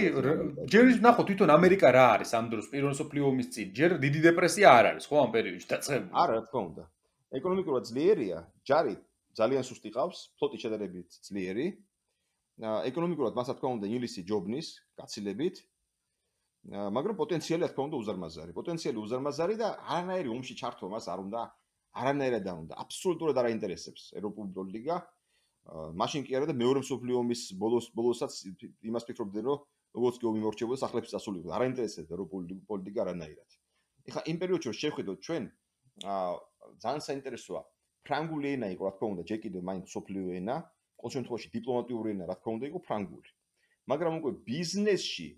ჯერ ნახო თვითონ ამერიკა რა არის ამ დროს პირველ მსოფლიო ომის წინ, ჯერ დიდი დეპრესია არ არის, ხო, ამ პერიოდში დაწყებული. არა, რა თქმა უნდა. ეკონომიკურად ძლიერია, ჯარი ძალიან სუსტი ყავს, ფლოტი შედარებით ძლიერი. ეკონომიკურად მას რა თქმა უნდა ინგლისი ჯობნის, გაცილებით. მაგრამ პოტენციალი რა თქმა უნდა უზარმაზარი. პოტენციალი უზარმაზარი და არანაირი ომში ჩართვა მას არ უნდა, არანაირად არ უნდა. აბსოლუტურად არ აინტერესებს ევროპული პოლიტიკა. მაშინ კი არა და მეორე მსოფლიო ომის ბოლოს ბოლოსაც იმას ფიქრობდნენ, რომ როგორც კი ომი მორჩებოდა, სახლებში დასულიყო. არ აინტერესებს ევროპული პოლიტიკა არანაირად. ეხლა იმ პერიოდში რომ შევხედოთ ჩვენ, აა ძალიან საინტერესოა. ფრანგული ენა იყო, რა თქმა უნდა, ჯერ კიდევ მაინც მსოფლიო ენა, ყოველ შემთხვევაში დიპლომატიური ენა, რა თქმა უნდა, იყო ფრანგული. მაგრამ უკვე ბიზნესში,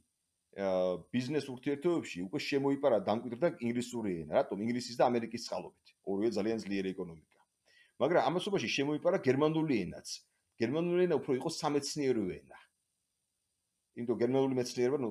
აა ბიზნეს ურთიერთობებში უკვე შემოიპარა დამკვიდრდა ინგლისური ენა. რატომ? ინგლისის და ამერიკის წყალობით. ორივე ძალიან ძლიერი ეკონომიკა. მაგრამ ამასობაში შემოიპარა გერმანული ენაც. გერმანული ენა უფრო იყო სამეცნიერო ენა. იმიტომ გერმანული მეცნიერება ნუ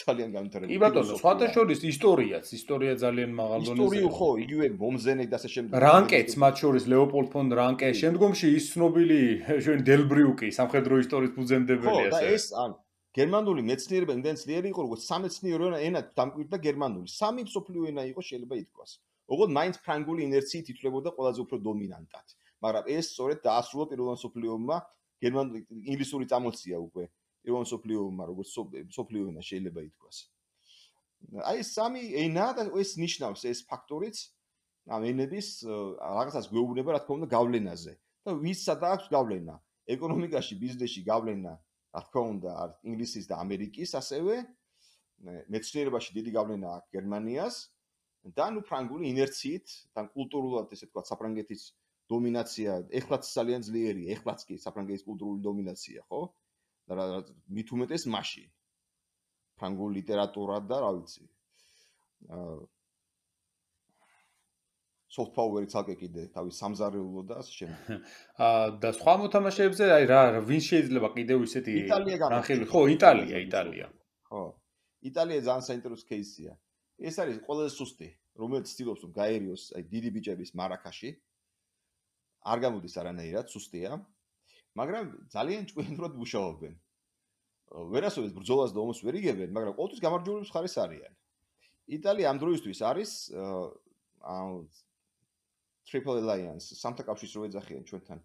ძალიან განვითარებული. კი ბატონო, სხვათა შორის ისტორიაც, ისტორია ძალიან მაღალ დონეზე. ისტორიო ხო, იგივე მომზენე და ასე შემდეგ. რანკეც მათ შორის ლეოპოლდ ფონ რანკე, შემდგომში ის ცნობილი ჩვენ დელბრიუკი, სამხედრო ისტორიის ფუძემდებელი ასე. ხო, და ეს ან გერმანული მეცნიერება იმდენ ძლიერი იყო, როგორც სამეცნიერო ენა დამკვიდრდა გერმანული. სამი მსოფლიო ენა იყო შეიძლება ითქვას. ოღონდ მაინც ფრანგული ინერციით ითვლებოდა ყველაზე უფრო დომინანტად. მაგრამ ეს სწორედ დაასრულა პირველ მსოფლიო ომმა, გერმანული ინგლისური წამოწია უკვე. პირველ მსოფლიო ომმა, როგორც მსოფლიო ენა შეიძლება ითქვას. აი ეს სამი ენა და ეს ნიშნავს ეს ფაქტორიც ამ ენების რაღაცას გვეუბნება, რა თქმა უნდა, გავლენაზე. და ვის სადაც გავლენა? ეკონომიკაში, ბიზნესში გავლენა, რა თქმა უნდა, ინგლისის და ამერიკის ასევე, მეცნიერებაში დიდი გავლენა აქვს გერმანიას და ნუ ფრანგული ინერციით, და კულტურულად ესე ვთქვათ, საფრანგეთის დომინაცია, ეხლაც ძალიან ძლიერია, ეხლაც კი საფრანგეთის კულტურული დომინაცია, ხო? და მით უმეტეს მაშინ ფრანგული ლიტერატურა და რა ვიცი აა soft power-ი ცალკე კიდე თავის სამზარეულო და ასე შემდეგ. აა და სხვა მოთამაშეებზე აი რა ვინ შეიძლება კიდევ ისეთი რანხელი ხო იტალია იტალია. ხო. იტალია ძალიან საინტერესო кейსია. ეს არის ყველაზე სუსტი, რომელიც ცდილობს რომ გაერიოს აი დიდი ბიჭების მარაკაში. არ გამოდის არანაირად, სუსტია. მაგრამ ძალიან ჭკვიანურად მუშაობენ. ვერასოდეს ბრძოლას და ომს ვერ იგებენ, მაგრამ ყოველთვის გამარჯვებული მხარეს არიან. იტალია ამ დროისთვის არის აა Triple Alliance, სამთა კავშირს რო ეძახიან ჩვენთან.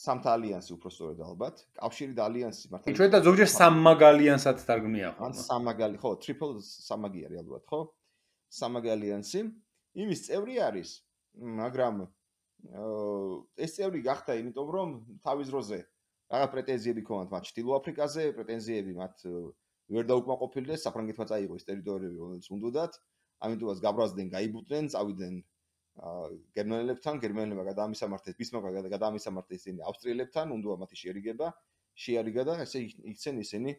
სამთა ალიანსი უფრო სწორედ ალბათ. კავშირი და ალიანსი მართალია. ჩვენ და ზოგჯერ სამმაგალიანსაც თარგმნია ხო? ან სამმაგალი, ხო, Triple სამმაგი არის ალბათ, ხო? სამმაგი ალიანსი. იმის წევრი არის, მაგრამ ეს წევრი გახდა იმიტომ რომ თავის დროზე რაღაც პრეტენზიები ქონათ მათ ჩრდილო აფრიკაზე, პრეტენზიები მათ ვერ დაუკმაყოფილდეს, საფრანგეთმა წაიღო ეს ტერიტორიები, რომელიც უნდათ, ამიტომაც გაბრაზდნენ, გაიბუტნენ, წავიდნენ გერმანელებთან, გერმანელებმა გადაამისამართეს, ბისმარკმა გადაამისამართეს ისინი ავსტრიელებთან, უნდა მათი შეერიგება, შეარიგა და ესე იქცენ ისინი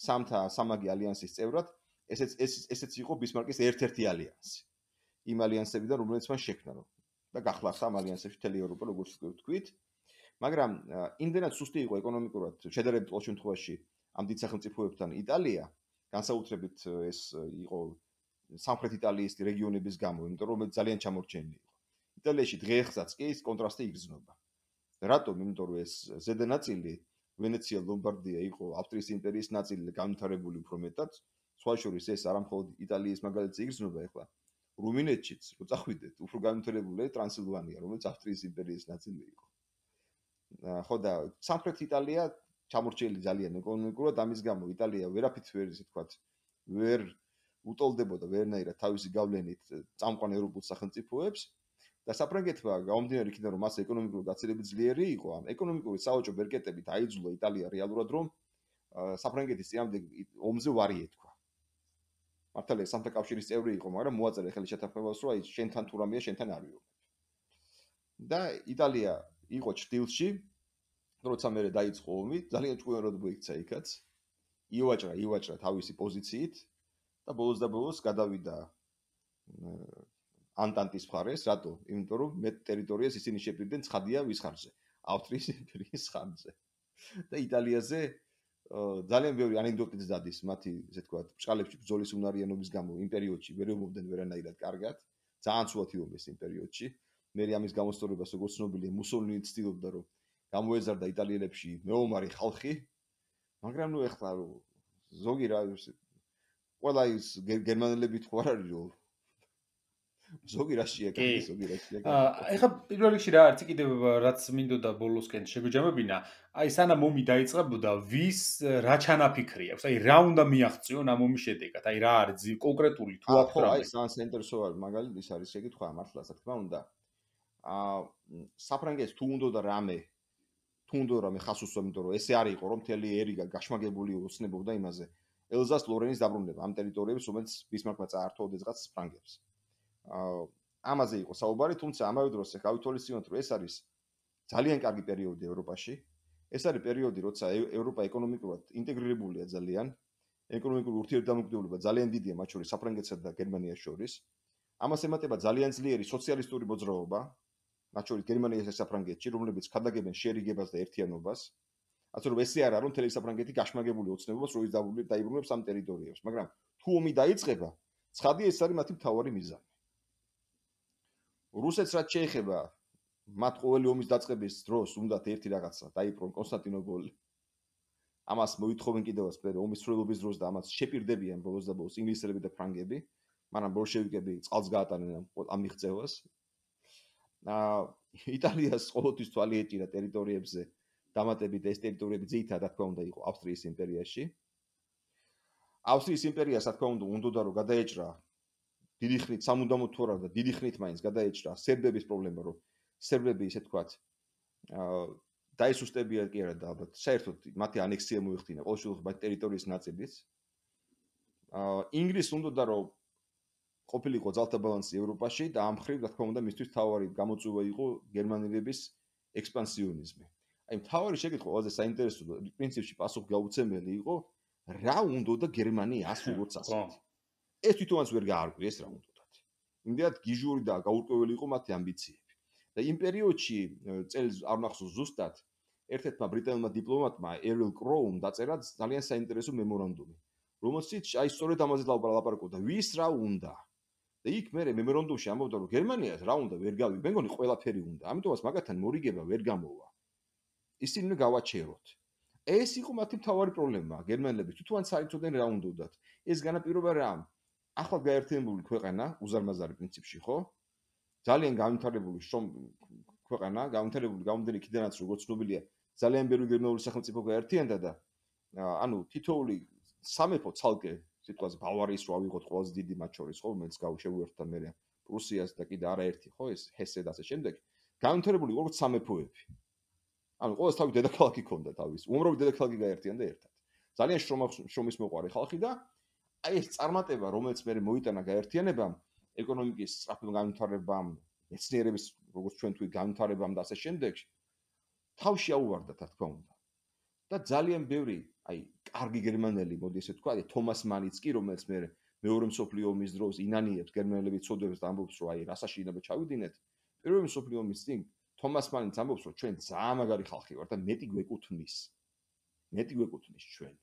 სამთა სამაგი ალიანსის წევრად, ესეც ესეც იყო ბისმარკის ერთ-ერთი ალიანსი. იმ ალიანსებიდან, რომელიც მან შექმნა და გახლახა ამ ალიანსებში მთელი ევროპა, როგორც ვთქვით. მაგრამ იმდენად სუსტი იყო ეკონომიკურად, შედარებით ყოველ შემთხვევაში ამ დიდ სახელმწიფოებთან იტალია, განსაკუთრებით ეს იყო სამხრეთ იტალიის რეგიონების გამო, იმიტომ რომ ძალიან ჩამორჩენილი იყო. იტალიაში დღესაც კი ეს კონტრასტი იგრძნობა. რატომ? იმიტომ რომ ეს ზედა ნაწილი, ვენეცია, ლომბარდია იყო ავსტრიის იმპერიის ნაწილი, განვითარებული უფრო მეტად. სხვა შორის ეს არა მხოლოდ იტალიის მაგალითზე იგრძნობა ახლა. რუმინეთშიც, რო წახვიდეთ, უფრო განვითარებულია ტრანსილვანია, რომელიც ავსტრიის იმპერიის ნაწილი იყო. ხო და სამხრეთ იტალია ჩამორჩენილი ძალიან ეკონომიკურად, ამის გამო იტალია ვერაფრით ვერ ისე თქვათ, ვერ უტოლდებოდა ვერნაირად თავისი გავლენით წამყვან ევროპულ სახელმწიფოებს და საფრანგეთმა გამომდინარე იქიდან რომ მას ეკონომიკური გაცილებით ძლიერი იყო, ამ ეკონომიკური საოჭო ბერკეტებით აიძულა იტალია რეალურად რომ საფრანგეთის წინამდე ომზე ვარი ეთქვა. მართალია სამთა კავშირის წევრი იყო, მაგრამ მოაწერა ხელი შეთანხმებას რომ აი შენთან თუ რამეა შენთან არ ვიომებ. და იტალია იყო ჭრილში, როცა მე დაიწყო ომი, ძალიან ჭკვიანად მოიქცა იქაც. ივაჭრა, ივაჭრა თავისი პოზიციით და ბოლოს და ბოლოს გადავიდა ანტანტის მხარეს, რატო? იმიტომ რომ მეტ ტერიტორიას ისინი შეპირდნენ ცხადია ვის ხარჯზე? ავსტრიის იმპერიის ხარჯზე. და იტალიაზე ძალიან ბევრი ანეკდოტიც დადის მათი, ესე ვთქვათ, ბჭყალებში ბრძოლის უნარიანობის გამო იმ პერიოდში ვერ ემობდნენ ვერანაირად კარგად. ძალიან ცუდად იომეს იმ პერიოდში. მე ამის გამოსწორებას როგორც ცნობილია, მუსოლინი ცდილობდა რომ გამოეზარდა იტალიელებში მეომარი ხალხი მაგრამ ნუ ეხლა ზოგი რა ყველა ის გერმანელები თუ არ არის რომ ზოგი რაშია კარგი, ზოგი რაშია კარგი. აა ეხლა პირველ რიგში რა არის კიდევ რაც მინდოდა ბოლოსკენ შეგვიჯამებინა, აი სანამ ომი დაიწყებოდა, ვის რა ჩანაფიქრი აქვს? აი რა უნდა მიაღწიონ ამ ომის შედეგად? აი რა არის კონკრეტული თუ აქვს რა? აი სანს ინტერესო არის მაგალითად ის არის შეკითხვა მართლა რა თქმა უნდა. აა საფრანგეთს თუ უნდოდა რამე თუ უნდა რამე ხას უსვა, იმიტომ რომ ესე არ იყო რომ მთელი ერიგა გაშმაგებული ოცნებობდა იმაზე. ელზას ლორენის დაბრუნება ამ ტერიტორიებს, რომელიც ბისმარკმა წაართვა ოდესღაც ფრანგებს. აა ამაზე იყო საუბარი, თუმცა ამავე დროს ახ გავითვალისწინოთ, რომ ეს არის ძალიან კარგი პერიოდი ევროპაში. ეს არის პერიოდი, როცა ევროპა ეკონომიკურად ინტეგრირებულია ძალიან, ეკონომიკური ურთიერთდამოკიდებულება ძალიან დიდია მათ შორის საფრანგეთსა და გერმანიას შორის. ამას ემატება ძალიან ძლიერი სოციალისტური მოძრაობა, მათ შორის გერმანიასა და საფრანგეთში, რომლებიც ხადაგებენ შერიგებას და ერთიანობას. ასე რომ ესე არა, რომ მთელი საფრანგეთი გაშმაგებული ოცნებობს, როის დაიბრუნებს ამ ტერიტორიებს, მაგრამ თუ ომი დაიწყება, ცხადია ეს არის მათი მთავარი მიზანი. რუსეთს რაც შეეხება, მათ ყოველი ომის დაწყების დროს უნდათ ერთი რაღაცა, დაიპყრონ კონსტანტინოპოლი. ამას მოითხოვენ კიდევაც მე ომის სრულობის დროს და ამას შეპირდებიან ბოლოს და ბოლოს ინგლისელები და ფრანგები, მაგრამ ბოლშევიკები წყალს გაატანენ ამ მიღწევას. აა იტალიას ყოველთვის თვალი ეჭირა ტერიტორიებზე დამატებით ეს ტერიტორიები ძირითადად რა თქმა უნდა იყო ავსტრიის იმპერიაში. ავსტრიის იმპერიას რა თქმა უნდა უნდოდა რომ გადაეჭრა დიდი ხნით სამუდამოდ თუ არა და დიდი ხნით მაინც გადაეჭრა სერბების პრობლემა, რომ სერბები ისე თქვათ აა დაისუსტებიან კი არა და ალბათ საერთოდ მათი ანექსია მოიხდინა ყოველ შემთხვევაში მათ ტერიტორიის ნაწილიც. აა ინგლისს უნდოდა რომ ყოფილიყო ძალთა ბალანსი ევროპაში და ამ ხრივ რა თქმა უნდა მისთვის თავარი გამოწვევა იყო გერმანელების ექსპანსიონიზმი. აი მთავარი შეკითხვა ყველაზე საინტერესო და პრინციპში პასუხგაუცემელი იყო რა უნდოდა გერმანიას როგორც ასეთი. ეს თვითონაც ვერ გაარკვიეს რა უნდათ. იმდენად გიჟური და გაურკვეველი იყო მათი ამბიციები. და იმ პერიოდში წელს არ ნახსოვს ზუსტად ერთ-ერთმა ბრიტანელმა დიპლომატმა ერილ კროუმ დაწერა ძალიან საინტერესო მემორანდუმი, რომელშიც აი სწორედ ამაზე ლაპარაკობდა, ვის რა უნდა. და იქ მე მემორანდუმში ამბობდა, რომ გერმანიას რა უნდა ვერ გავი, მე მგონი ყველაფერი უნდა. ამიტომაც მაგათთან მორიგება ვერ გამოვა. ისინი გავაჩეროთ. ეს იყო მათი მთავარი პრობლემა, გერმანელები თვითონაც არ იცოდნენ რა უნდათ. ეს განაპირობა რა? ახლა გაერთიანებული ქვეყანა, უზარმაზარი პრინციპში, ხო? ძალიან განვითარებული შრომ ქვეყანა, განვითარებული გამომდინარე იქიდანაც როგორც ცნობილია, ძალიან ბევრი გერმანული სახელმწიფო გაერთიანდა და ანუ თითოეული სამეფო ცალკე, სიტყვაზე ბავარიის რო ავიღოთ ყველაზე დიდი მათ შორის, ხო, რომელიც გავშევუერთდა მე პრუსიას და კიდე არაერთი, ხო, ეს ჰესე და ასე შემდეგ, განვითარებული როგორც სამეფოები. ანუ ყოველს თავი დედაქალაქი ჰქონდა თავის, უამრავი დედაქალაქი გაერთიანდა ერთად. ძალიან შრომის მოყვარე ხალხი და აი ეს წარმატება, რომელიც მე მოიტანა გაერთიანებამ, ეკონომიკის სწრაფ განვითარებამ, მეცნიერების როგორც ჩვენ თქვი განვითარებამ და ასე შემდეგ, თავში აუვარდა რა თქმა უნდა. და ძალიან ბევრი, აი, კარგი გერმანელი, მოდი ესე ვთქვა, თომას მანიც კი, რომელიც მე მეორე მსოფლიო ომის დროს ინანიებს გერმანელების წოდებს და ამბობს, რომ აი, რასაში ინება ჩავიდინეთ. პირველი მსოფლიო ომის წინ თომას მანიც ამბობს, რომ ჩვენ ძალიან მაგარი ხალხი ვართ და მეტი გვეკუთვნის. მეტი გვეკუთვნის ჩვენ.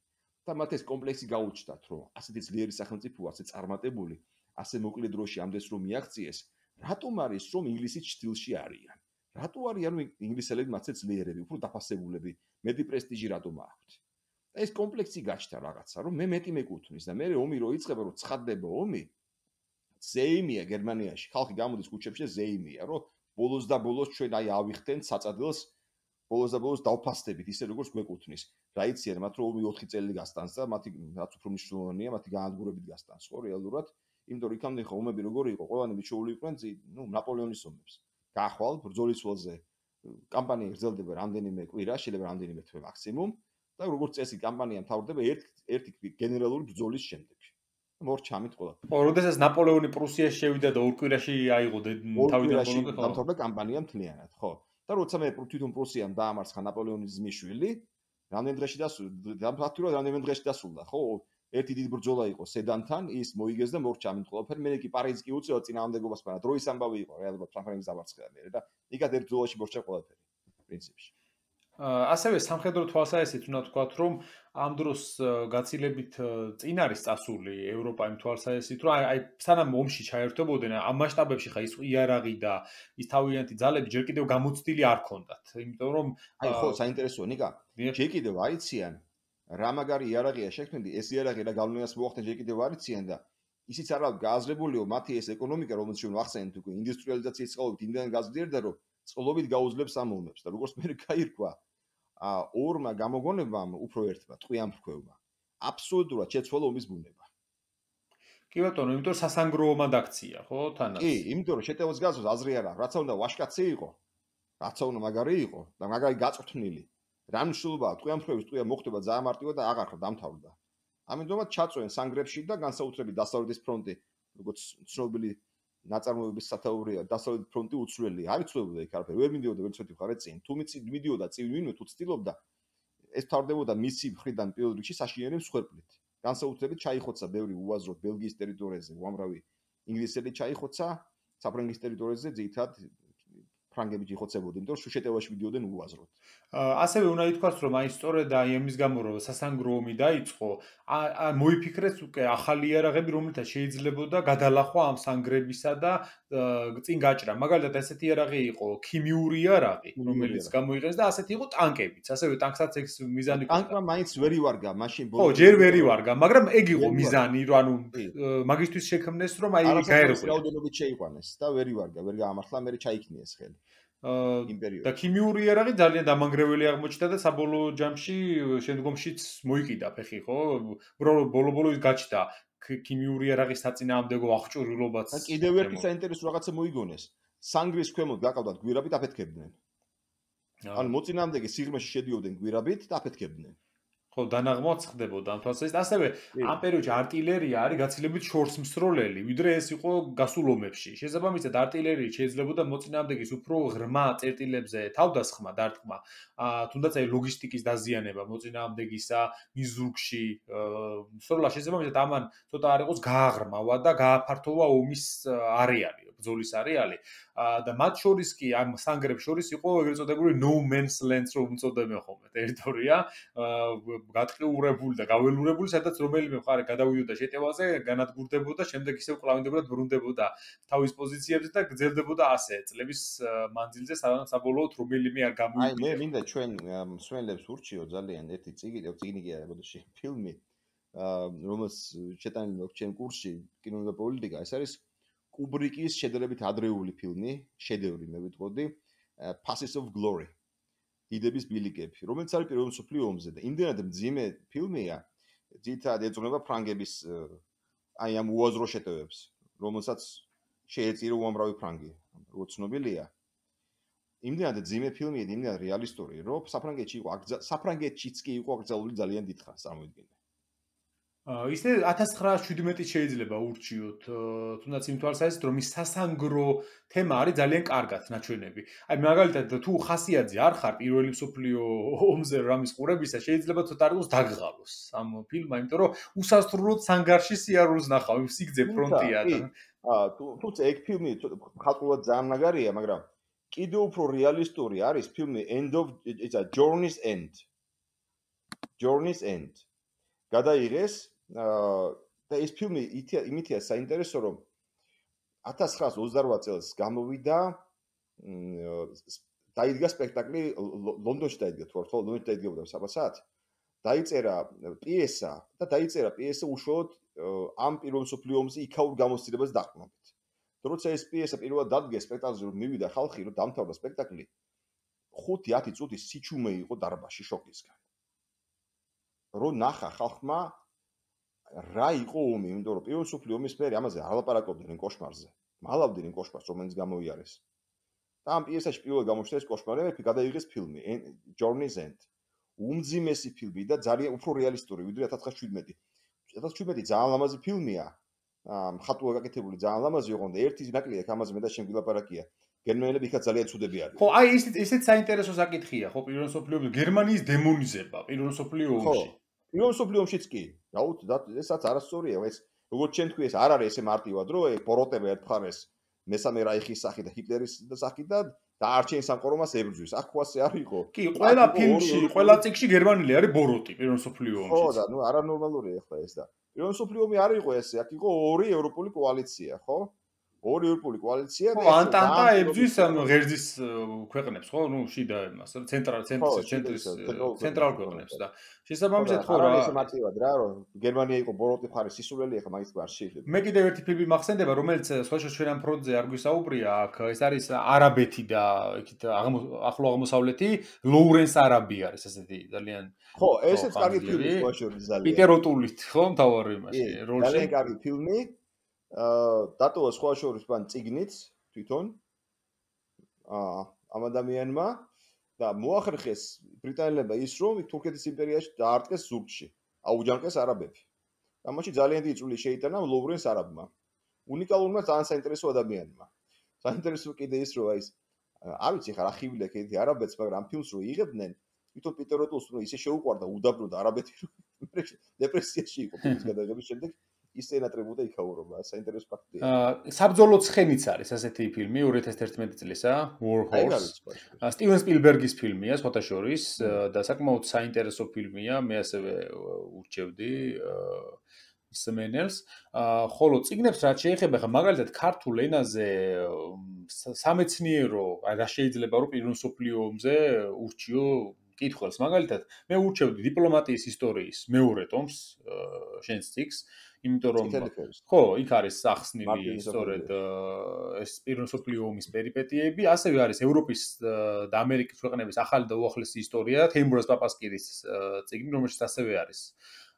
და მათ ეს კომპლექსი გაუჩნდათ, რომ ასეთი ძლიერი სახელმწიფოა, ასე წარმატებული, ასე მოკლე დროში ამდენს რომ მიაღწიეს, რატომ არის რომ ინგლისის ჭრილში არიან? რატო არიან ინგლისელები მათზე ძლიერები, უფრო დაფასებულები, მეტი პრესტიჟი რატომ აქვთ? და ეს კომპლექსი გაჩნდა რაღაცა, რომ მე მეტი მეკუთვნის და მე ომი რო იწყება, რომ ცხადდება ომი, ზეიმია გერმანიაში, ხალხი გამოდის ქუჩებში და ზეიმია, რომ ბოლოს და ბოლოს ჩვენ აი ავიხდენ საწადელს, ბოლოს და ბოლოს დავფასდებით, ისე როგორც გვეკუთვნის. რა იციან, მათ რომ ომი ოთხი წელი გასტანს და მათი რაც უფრო მნიშვნელოვანია, მათი განადგურებით გასტანს, ხო, რეალურად, იმიტომ რომ იქამდე ხო ომები როგორი იყო, ყველანი მიჩეული იყვნენ, ნუ ნაპოლეონის ომებს. გაახვალ ბრძოლის ველზე კამპანია გრძელდება რამდენიმე კვირა, შეიძლება რამდენიმე თვე მაქსიმუმ და როგორც წესი კამპანია მთავრდება ერთ ერთი გენერალური ბრძოლის შემდეგ. მორჩამით ყველაფერი. ო, როდესაც ნაპოლეონი პრუსიაში შევიდა და ორ კვირაში აიღო თავიდან ბოლომდე, ხო? დამთავრდა კამპანია მთლიანად, ხო. და როცა მე თვითონ პრუსიამ დაამარცხა ნაპოლეონის ძმისშვილი, რამდენ დღეში დასრულდა? ფაქტურად რამდენ დღეში დასრულდა, ხო? ერთი დიდი ბრძოლა იყო სედანთან, ის მოიგეს და მორჩა ამით ყველაფერი. მე კი პარიზი კი უწევდა წინააღმდეგობას, მაგრამ დროის ამბავი იყო, რეალურად საფრანგეთს დამარცხდა მე და იქად ერთ ბრძოლაში მორჩა ყველაფერი, პრინციპში. ასევე სამხედრო თვალსაზრისით უნდა ვთქვათ, რომ ამ დროს გაცილებით წინ არის წასული ევროპა იმ თვალსაზრისით, რომ აი სანამ ომში ჩაერთვებოდნენ, ამ მასშტაბებში ხა ის იარაღი და ის თავიანთი ძალები ჯერ კიდევ გამოცდილი არ ქონდათ. იმიტომ რომ აი ხო, საინტერესოა, ნიკა. ჯერ კიდევ აიციან რა მაგარი იარაღია შექმნილი, ეს იარაღი რა გავლენას მოახდენს ჯერ კიდევ არ იციან და ისიც არ აქვს გააზრებულიო მათი ეს ეკონომიკა, რომელიც ჩვენ ვახსენეთ უკვე ინდუსტრიალიზაციის წყალობით იმდან გაზრდიერდა, რომ წყლობით გაუძლებს ამ ომებს და როგორც მე გაირკვა, ორმა გამოგონებამ უფრო ერთმა ტყვიან ფრქვევმა აბსოლუტურად შეცვალა ომის ბუნება. კი ბატონო, იმიტომ რომ სასანგრო ომად აქცია, ხო, თანაც? კი, იმიტომ რომ შეტევას გაზოს აზრი არა, რაცა უნდა ვაშკაცი იყო, რაცა უნდა მაგარი იყო და მაგარი გაწვრთნილი. რა მნიშვნელობაა ტყვიან ფრქვევის ტყვია მოხდება ძალიან მარტივად და აღარ დამთავრდა. ამიტომაც ჩაწვენ სანგრებში და განსაკუთრებით დასავლეთის ფრონტი, როგორც ცნობილი ნაწარმოების სათაურია, დასავლეთის ფრონტი უცვლელი. არ იცვლებოდა იქ არაფერი, ვერ მიდიოდა ვერც ერთი მხარე წინ. თუ მიწი მიდიოდა წინ ვინმე თუ ცდილობდა, ეს თავდებოდა მისი მხრიდან პირველ რიგში საშინელი მსხვერპლით. განსაკუთრებით ჩაიხოცა ბევრი უაზროდ ბელგიის ტერიტორიაზე, უამრავი ინგლისელი ჩაიხოცა, საფრანგეთის ტერიტორიაზე ძირითადად ფრანგები იხოცებოდნენ, იმიტომ რომ შუშეტევაში მიდიოდნენ უაზროდ. ასევე უნდა ითქვას, რომ აი სწორედ აი ამის გამო რომ სასანგრო ომი დაიწყო, მოიფიქრეს უკვე ახალი იარაღები, რომელთაც შეიძლებოდა გადალახვა ამ სანგრებისა და წინ გაჭრა. მაგალითად, ესეთი იარაღი იყო ქიმიური იარაღი, რომელიც გამოიყენეს და ასეთი იყო ტანკებიც. ასევე ტანკსაც ეს მიზანი ჰქონდა. ტანკმა მაინც ვერ ივარგა, მაშინ ხო, ჯერ ვერ ივარგა, მაგრამ ეგ იყო მიზანი, რომ ანუ მაგისტვის შექმნეს, რომ აი გაერღვია. რაოდენობით შეიყვანეს და ვერ ივარგა, ვერ გაამართლა, მე ჩაიქნიეს ხელი. და ქიმიური იარაღი ძალიან დამანგრეველი აღმოჩნდა და საბოლოო ჯამში შემდგომშიც მოიკიდა ფეხი, ხო? უბრალოდ ბოლო-ბოლო ის გაჩნდა ქიმიური იარაღის საწინააღმდეგო აღჭურვილობაც. და კიდევ ერთი საინტერესო რაღაცა მოიგონეს. სანგრის ქვემოთ გაყავდათ გვირაბით აფეთქებდნენ. ანუ მოწინააღმდეგე სიღრმეში შედიოდნენ გვირაბით და აფეთქებდნენ. ხო, დანაღმვაც ხდებოდა ამ თვალსაზრისით. ასევე ამ პერიოდში არტილერია არის გაცილებით შორსმსროლელი, ვიდრე ეს იყო გასულ ომებში. შესაბამისად, არტილერიით შეიძლებოდა მოწინააღმდეგის უფრო ღრმა წერტილებზე თავდასხმა, დარტყმა, თუნდაც აი ლოგისტიკის დაზიანება მოწინააღმდეგისა მიზურგში. სროლა შესაბამისად ამან ცოტა არ იყოს გააღრმავა და გააფართოვა ომის არეალი, ბრძოლის არეალი. და მათ შორის კი ამ სანგრებს შორის იყო ეგრეთ წოდებული no man's land რომ უწოდებენ ხოლმე ტერიტორია, გატყიურებული და გაველურებული, სადაც რომელიმე მხარე გადავიდოდა შეტევაზე, განადგურდებოდა, შემდეგ ისევ კლავინდებოდა, ბრუნდებოდა თავის პოზიციებზე და გრძელდებოდა ასე წლების მანძილზე, სანამ საბოლოოდ რომელიმე არ გამოვიდა. აი, მე მინდა ჩვენ მსმენელებს ურჩიო ძალიან ერთი წიგნი, წიგნი კი არა, ბოდიში, ფილმი, რომელს შეტანილი აქვს ჩემ კურსში კინო და პოლიტიკა, ეს არის კუბრიკის შედარებით ადრეული ფილმი, შედევრი მე ვიტყოდი, Passes of Glory. დიდების ბილიკები, რომელიც არის პირველ მსოფლიო ომზე და იმდენად მძიმე ფილმია, ძირითადად ეძღვნება ფრანგების აი ამ უაზრო შეტევებს, რომელსაც შეეწირა უამრავი ფრანგი, როგორც ცნობილია. იმდენად მძიმე ფილმია, იმდენად რეალისტური, რომ საფრანგეთში იყო, საფრანგეთშიც კი იყო აკრძალული ძალიან დიდხანს წარმოიდგინე. ისე ათას ცხრაასი შვიდმეტი შეიძლება ურჩიოთ, თუნდაც იმ თვალსაზრისით, რომ ის სასანგრო თემა არის ძალიან კარგად ნაჩვენები. აი მაგალითად, თუ ხასიათზე არ ხარ პირველი მსოფლიო ომზე რამის ყურებისა, შეიძლება ცოტა არ იყოს დაგღალოს ამ ფილმმა, იმიტომ რომ უსასრულოდ სანგარში სიარულს ნახავ, იმ სიგძე ფრონტია და აა თუმცა ეგ ფილმი ხალხურად ძალიან მაგარია, მაგრამ კიდევ უფრო რეალისტური არის ფილმი End of it's a Journey's End. Journey's End. გადაიღეს და ეს ფილმი იმითია საინტერესო, რომ ათას ცხრაასი ოცდარვაათი წელს გამოვიდა, დაიდგა სპექტაკლი ლონდონში დაიდგა თუ ხო, ლონდონში დაიდგებოდა საბასად. დაიწერა პიესა და დაიწერა პიესა უშუალოდ ამ პირველ მსოფლიო ომზე იქაურ გამოცდილებას დაყრდნობით. როცა ეს პიესა პირველად დადგეს სპექტაკლზე, რომ მივიდა ხალხი, რომ დამთავრდა სპექტაკლი, ხუთი ათი წუთი სიჩუმე იყო დარბაზში შოკისგან. რო ნახა ხალხმა რა იყო ომი, იმიტომ რომ პირველ მსოფლიო ომის მერე ამაზე არ ლაპარაკობდნენ კოშმარზე. მალავდნენ კოშმარს, რომელიც გამოიარეს. და ამ პიესაში პირველად გამოჩნდა ეს კოშმარი, გადაიღეს ფილმი Journey's End. უმძიმესი ფილმი და ძალიან უფრო რეალისტური, ვიდრე ათას ცხრაასი შვიდმეტი. ათას ცხრაასი შვიდმეტი ძალიან ლამაზი ფილმია. მხატვრულად გაკეთებული ძალიან ლამაზი იყო და ერთი ნაკლია აქ ამაზე მე და შენ გილაპარაკია. გერმანელები იქაც ძალიან ცუდები არიან. ხო, აი ისეთ ისეთ საინტერესო საკითხია, ხო, პირველ მსოფლიო ომში გერმანიის დემონიზება, პირველ მსოფლიო ომში. პირველ მსოფლიო ომშიც კი. რაუთ, ესაც არასწორია, ეს როგორც ჩვენ თქვი, ეს არ არის ესე მარტივად, რომ ეგ ბოროტება ერთ მხარეს მესამე რაიხის სახით და ჰიტლერის სახით და დაარჩენის სამყარომას ებრძვის. აქ ხواسე არ იყო. კი, ყველა ფილმში, ყველა წიგნში გერმანელი არის ბოროტი პირველ მსოფლიო ომში. ხო, და ნუ არანორმალურია ახლა ეს და პირველ მსოფლიო ომი არ იყო ესე, აქ იყო ორი ევროპული კოალიცია, ხო? ორი ევროპული კოალიცია და ანტანტა ებძვის ამ ღერძის ქვეყნებს, ხო? ნუ შიდა იმას, ცენტრალ ცენტრის ცენტრის ცენტრალ ქვეყნებს და შესაბამისად ხო რა. არის მარტივად რა, რომ გერმანია იყო ბოროტი მხარი სისულელი, ახლა მაგის არ შეიძლება. მე კიდევ ერთი ფილმი მახსენდება, რომელიც სხვაშორის ჩვენ ამ ფრონტზე არ გვისაუბრია, აქ ეს არის არაბეთი და იქით ახლო აღმოსავლეთი, ლოურენს არაბი არის ესეთი ძალიან ხო, ესეც კარგი ფილმი სხვაშორის ძალიან. პიტერ ოტულით, ხო, მთავარ იმაში, როლში. ძალიან კარგი ფილმი. აა დატოვა სხვაშორის მან წიგნიც თვითონ აა ამ ადამიანმა და მოახერხეს ბრიტანელებმა ის რომ თურქეთის იმპერიაში დაარტყეს ზურგში, აუჯანყეს არაბები. ამაში ძალიან დიდი წვლილი შეიტანა ლოურენს არაბმა. უნიკალურმა ძალიან საინტერესო ადამიანმა. საინტერესო კიდე ის რომ აი ეს არ ვიცი ხარ ახივლია კიდე არაბეთს, მაგრამ ამ ფილმს რო იღებდნენ, თვითონ პიტერ ოტულს რო ისე შეუყვარდა უდაბნოდა არაბეთი რომ დეპრესიაში იყო ფილმის გადაღების შემდეგ. ის ენატრებოდა იქაურობა, საინტერესო ფაქტია. აა საბრძოლო ცხენიც არის ასეთი ფილმი ორი ათას ერთმეტი წლისა, War Horse. სტივენ სპილბერგის ფილმია, სხვათა შორის და საკმაოდ საინტერესო ფილმია, მე ასევე ურჩევდი მსმენელს. აა ხოლო წიგნებს რაც შეეხება, ხა მაგალითად ქართულ ენაზე სამეცნიერო, აი რა შეიძლება რომ პირველ მსოფლიო ომზე ურჩიო კითხველს. მაგალითად, მე ურჩევდი დიპლომატიის ისტორიის მეორე ტომს, შენს წიგნს. იმიტომ რომ ხო, იქ არის ახსნილი სწორედ ეს პირველ მსოფლიო ომის პერიპეტიები, ასევე არის ევროპის და ამერიკის ქვეყნების ახალი და უახლესი ისტორია, თეიმურაზ პაპასკირის წიგნი, რომელშიც ასევე არის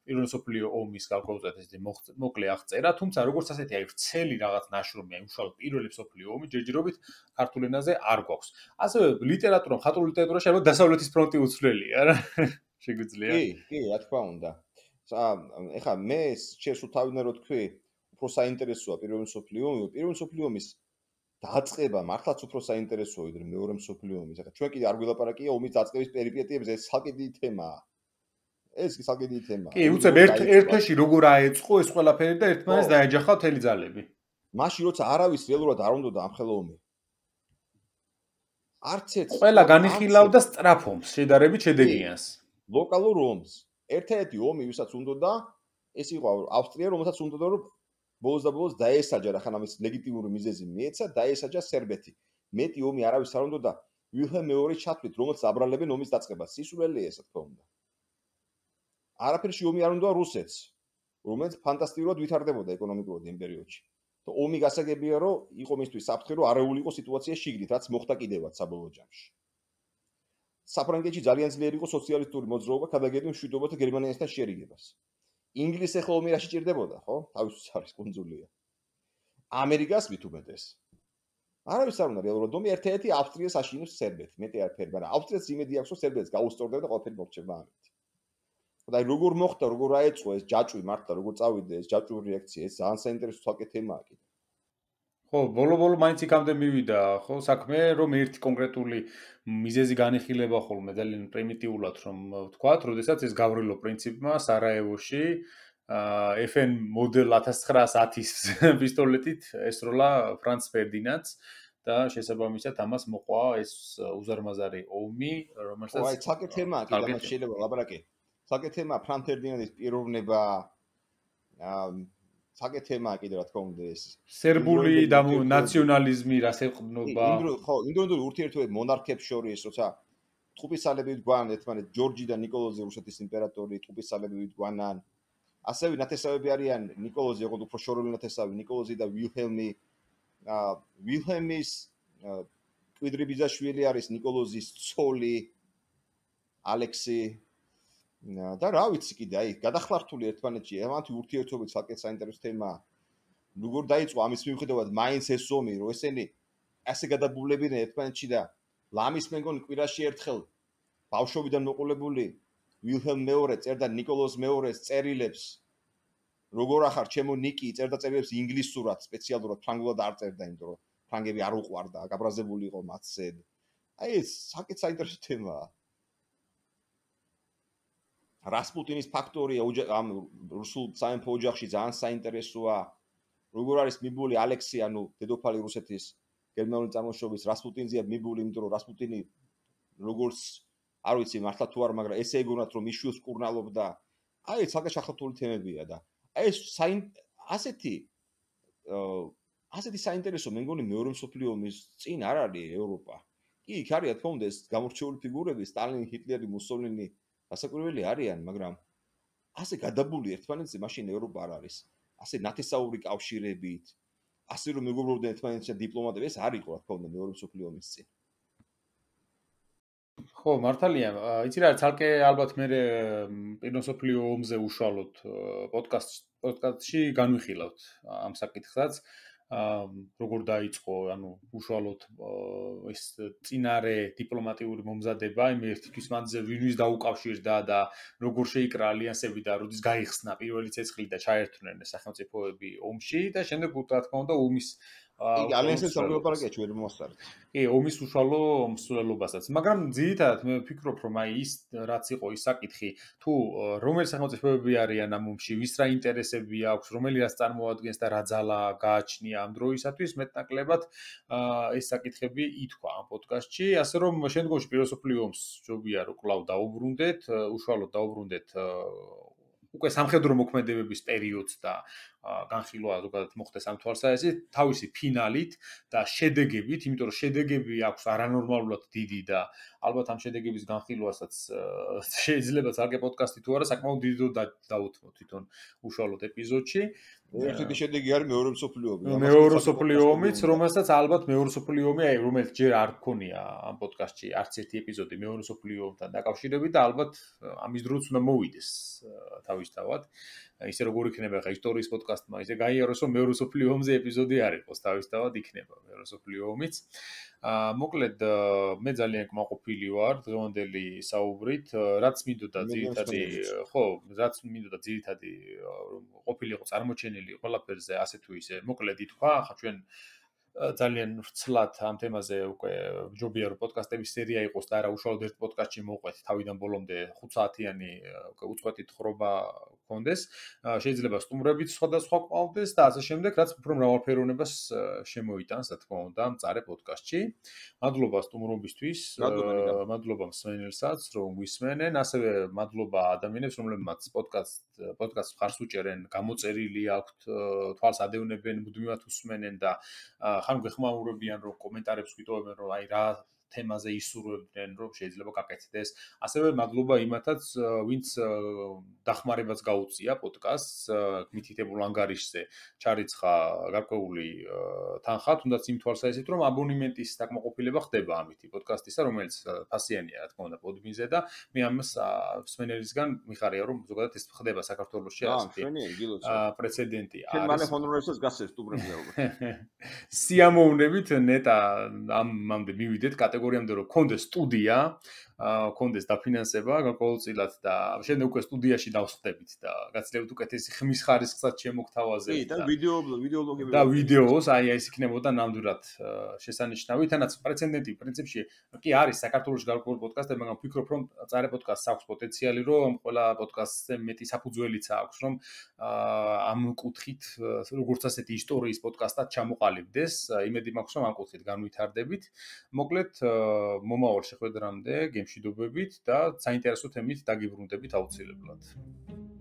პირველ მსოფლიო ომის გარკვეულწილად ესეთი მოკლე აღწერა, თუმცა როგორც ასეთი აი ვრცელი რაღაც ნაშრომი, აი უშუალოდ პირველი მსოფლიო ომი ჯერჯერობით ქართულ ენაზე არ გვაქვს. ასევე ლიტერატურა, მხატვრული ლიტერატურაში ალბათ დასავლეთის ფრონტი უცვლელია რა. შეგვიძლია? კი, კი, რა თქმა უნდა. ეხლა მე შენ სულ თავიდან რო თქვი, უფრო საინტერესოა პირველ მსოფლიო ომი, პირველ მსოფლიო ომის დაწყება მართლაც უფრო საინტერესოა ვიდრე მეორე მსოფლიო ომის. ეხლა ჩვენ კიდე არ გველაპარაკია ომის დაწყების პერიპეტიებზე, ეს საკი დიდი თემაა. ეს საკი დიდი თემაა. კი, უცებ ერთ ერთში როგორ აეწყო ეს ყველაფერი და ერთმანეთს დაეჯახა მთელი ძალები. მაშინ როცა არავის რეალურად არ უნდოდა ამ ხელოვნი. არც ერთ ყველა განიხილავდა სწრაფ ომს, შედარებით შედეგიანს. ლოკალურ ომს. ერთ-ერთი ომი, ვისაც უნდოდა, ეს იყო ავსტრია, რომელსაც უნდოდა რომ ბოლოს და ბოლოს დაესაჯა, რახან ამის ლეგიტიმური მიზეზი მიეცა, დაესაჯა სერბეთი. მეტი ომი არავის არ უნდოდა ვილჰელმ მეორის ჩათვლით, რომელსაც აბრალებენ ომის დაწყებას. სისულელია ეს, თქო უნდა. არაფერში ომი არ უნდა რუსეთს, რომელიც ფანტასტიკურად ვითარდებოდა ეკონომიკურად იმ პერიოდში. და ომი გასაგებია, რომ იყო მისთვის საფრთხე, რომ არეული იყო სიტუაცია შიგნით, რაც მოხდა კიდევაც საბოლოო ჯამში. საფრანგეთში ძალიან ძლიერი იყო სოციალისტური მოძრაობა, გადაგედი მშვიდობათა გერმანიასთან შერიგებას. ინგლისი ახლა ომი რა შეჭირდებოდა, ხო? თავისთვის არის კუნძულია. ამერიკას მით უმეტეს. არავის არ უნდა რეალურად ომი ერთ-ერთი ავსტრიას აშინებს სერბეთი, მეტი არაფერი, მაგრამ ავსტრიას იმედი აქვს, რომ სერბეთს გაუსწორდება და ყველაფერი მორჩება ამით. და აი როგორ მოხდა, როგორ აეწყო ეს ჯაჭვი მართლა, როგორ წავიდა ეს ჯაჭვური რეაქცია, ეს ძალიან საინტერესო საკითხი თემაა კიდე. ხო, ბოლო-ბოლო მაინც იქამდე მივიდა, ხო, საქმე, რომ ერთი კონკრეტული მიზეზი განიხილება ხოლმე ძალიან პრიმიტიულად, რომ ვთქვათ, როდესაც ეს გავრილო პრინციპმა სარაევოში ეფ ენ მოდელ ათას ცხრაას ათის პისტოლეტით ესროლა ფრანც ფერდინანდს და შესაბამისად ამას მოყვა ეს უზარმაზარი ომი, რომელსაც ხო, აი საკითხებია, კიდე მას შეიძლება ლაპარაკი. საკითხებია ფრანც ფერდინანდის პიროვნება, აა საკითხებია კიდე რა თქმა უნდა ეს სერბული და ნაციონალიზმი რასეყნობა. ხო, ინდოინდური ურთიერთობები მონარქებს შორის, როცა ტყუპისცალები ვიდგან ერთმანეთს, ჯორჯი და ნიკოლოზი რუსეთის იმპერატორი ტყუპისცალები ვიდგანან. ასევე ნათესავები არიან ნიკოლოზი, როგორც უფრო შორეული ნათესავი, ნიკოლოზი და ვილჰელმი. აა ვილჰელმის კვიდრიბიძაშვილი არის ნიკოლოზის ცოლი ალექსი და რა ვიცი კიდე, აი, გადახლართული ერთმანეთში, ამათი ურთიერთობები საკეთ საინტერესო თემაა. როგორ დაიწყო ამის მიუხედავად მაინც ეს ომი, რომ ესენი ასე გადაბულებიდნენ ერთმანეთში და ლამის მეგონი კვირაში ერთხელ ბავშვობიდან მოყოლებული ვილჰელმ მეორე წერდა ნიკოლოზ მეორეს წერილებს. როგორ ახარ ჩემო ნიკი წერდა წერილებს ინგლისურად, სპეციალურად ფრანგულად არ წერდა, იმიტომ რომ ფრანგები არ უყვარდა, გაბრაზებული იყო მათზე. აი ეს საკეთ საინტერესო თემაა. რასპუტინის ფაქტორია ამ რუსულ სამეფო ოჯახში ძალიან საინტერესოა. როგორ არის მიბული ალექსი, ანუ დედოფალი რუსეთის გერმანული წარმოშობის რასპუტინზეა მიბული, იმიტომ რომ რასპუტინი როგორც არ ვიცი მართლა თუ არ, მაგრამ ესე ეგონათ რომ მიშვილს კურნალობდა. აი, საკეთ შეხოთული თემებია და აი ეს ასეთი ასეთი საინტერესო მე მგონი მეორე მსოფლიო ომის წინ არ არის ევროპა. კი, იქ არის რა თქმა უნდა ეს გამორჩეული ფიგურები, სტალინი, ჰიტლერი, მუსოლინი, გასაკვირველი არიან, მაგრამ ასე გადაბული ერთმანეთზე მაშინ ევროპა არ არის. ასე ნათესაური კავშირებით, ასე რომ მეგობრობდნენ ერთმანეთში დიპლომატები, ეს არ იყო რა თქმა უნდა მეორე მსოფლიო ომის წინ. ხო, მართალია. იცი რა, ცალკე ალბათ მე პირველ მსოფლიო ომზე უშუალოდ პოდკასტ პოდკასტში განვიხილავთ ამ საკითხსაც. როგორ დაიწყო, ანუ უშუალოდ ეს წინარე დიპლომატიური მომზადება, იმ ერთი თვის მანძილზე ვინვის დაუკავშირდა და როგორ შეიკრა ალიანსები და როდის გაიხსნა პირველი ცეცხლი და ჩაერთვნენ სახელმწიფოები ომში და შემდეგ რა თქმა უნდა ომის კი, ალიანსებს სამგლობარაკია ჩვენ მოსწარეთ. კი, ომის უშუალო მსვლელობასაც. მაგრამ ძირითადად მე ვფიქრობ, რომ აი ის რაც იყო ის საკითხი, თუ რომელი სახელმწიფოები არიან ამ ომში, ვის რა ინტერესები აქვს, რომელი რას წარმოადგენს და რა ძალა გააჩნია ამ დროისათვის, მეტნაკლებად ეს საკითხები ითქვა ამ პოდკასტში, ასე რომ შემდგომში პირველ მსოფლიო ომს ჯობია რომ კვლავ დაუბრუნდეთ, უშუალოდ დაუბრუნდეთ უკვე სამხედრო მოქმედებების პერიოდს და განხილვა ზოგადად მოხდეს ამ თვალსაზრისით თავისი ფინალით და შედეგებით, იმიტომ რომ შედეგები აქვს არანორმალურად დიდი და ალბათ ამ შედეგების განხილვასაც შეიძლება ცალკე პოდკასტი თუ არა საკმაოდ დიდი დრო დაუთმოთ თვითონ უშუალოდ ეპიზოდში. ერთი შედეგი არის მეორე მსოფლიო ომი. მეორე მსოფლიო ომიც, რომელსაც ალბათ მეორე მსოფლიო ომი, აი რომელიც ჯერ არ გქონია ამ პოდკასტში არც ერთი ეპიზოდი მეორე მსოფლიო ომთან დაკავშირებით და ალბათ ამის დროც უნდა მოვიდეს თავისთავად. ისე როგორ იქნება ხა ისტორიის პოდკასტმა, ისე გაიაროს რომ მეორე მსოფლიო ომზე ეპიზოდი არ იყოს, თავისთავად იქნება მეორე მსოფლიო ომიც. აა მოკლედ მე ძალიან კმაყოფილი ვარ დღევანდელი საუბრით, რაც მინდოდა ძირითადი, ხო, რაც მინდოდა ძირითადი რომ ყოფილიყო წარმოჩენილი ყველაფერზე ასე თუ ისე მოკლედ ითქვა, ხა ჩვენ ძალიან ვრცლად ამ თემაზე უკვე ჯობია რომ პოდკასტების სერია იყოს და არა უშუალოდ ერთ პოდკასტში მოვყვეთ თავიდან ბოლომდე ხუთ საათიანი უწყვეტი თხრობა გქონდეს. შეიძლება სტუმრებიც სხვადასხვა ყავდეს და ასე შემდეგ, რაც უფრო მრავალფეროვნებას შემოიტანს, რა თქმა უნდა, მწარე პოდკასტში. მადლობა სტუმრობისთვის, მადლობა მსმენელსაც, რომ გვისმენენ, ასევე მადლობა ადამიანებს, რომლებმაც პოდკასტ პოდკასტს მხარს უჭერენ, გამოწერილი აქვთ, თვალს ადევნებენ, მუდმივად უსმენენ და ხან გეხმაურებიან, რომ კომენტარებს გვიტოვებენ, რომ აი რა თემაზე ისურვებდნენ, რომ შეიძლება გაკეთდეს. ასევე მადლობა იმათაც, ვინც დახმარებას გაუწია პოდკასტს, მითითებულ ანგარიშზე ჩარიცხა გარკვეული თანხა, თუნდაც იმ თვალსაზრისით, რომ აბონემენტის დაკმაყოფილება ხდება ამითი პოდკასტისა, რომელიც ფასიანია, რა თქმა უნდა, პოდბინზე და მე ამას მსმენელისგან მიხარია, რომ ზოგადად ეს ხდება საქართველოში ასეთი პრეცედენტი არის. ჩვენ მალე ჰონორებსაც გასცეს სტუმრებზე ალბათ. სიამოვნებით ნეტა ამამდე მივიდეთ კატეგორიამდე რომ კონდეს სტუდია, კონდეს დაფინანსება გარკვეულწილად და შემდეგ უკვე სტუდიაში დავსხდებით და გაცილებით უკეთესი ხმის ხარისხსაც შემოგთავაზებთ. კი, და ვიდეო ვიდეოლოგები და ვიდეოს, აი ეს იქნებოდა ნამდვილად შესანიშნავი. თანაც პრეცედენტი პრინციპში კი არის საქართველოს გარკვეული პოდკასტები, მაგრამ ვფიქრობ, რომ წარე პოდკასტს აქვს პოტენციალი, რომ ყველა პოდკასტზე მეტი საფუძველიც აქვს, რომ ამ კუთხით როგორც ასეთი ისტორიის პოდკასტად ჩამოყალიბდეს. იმედი მაქვს, რომ ამ კუთხით განვითარდებით. მოკლედ მომავალ შეხვედრამდე გემშვიდობებით და საინტერესო თემით დაგიბრუნდებით აუცილებლად.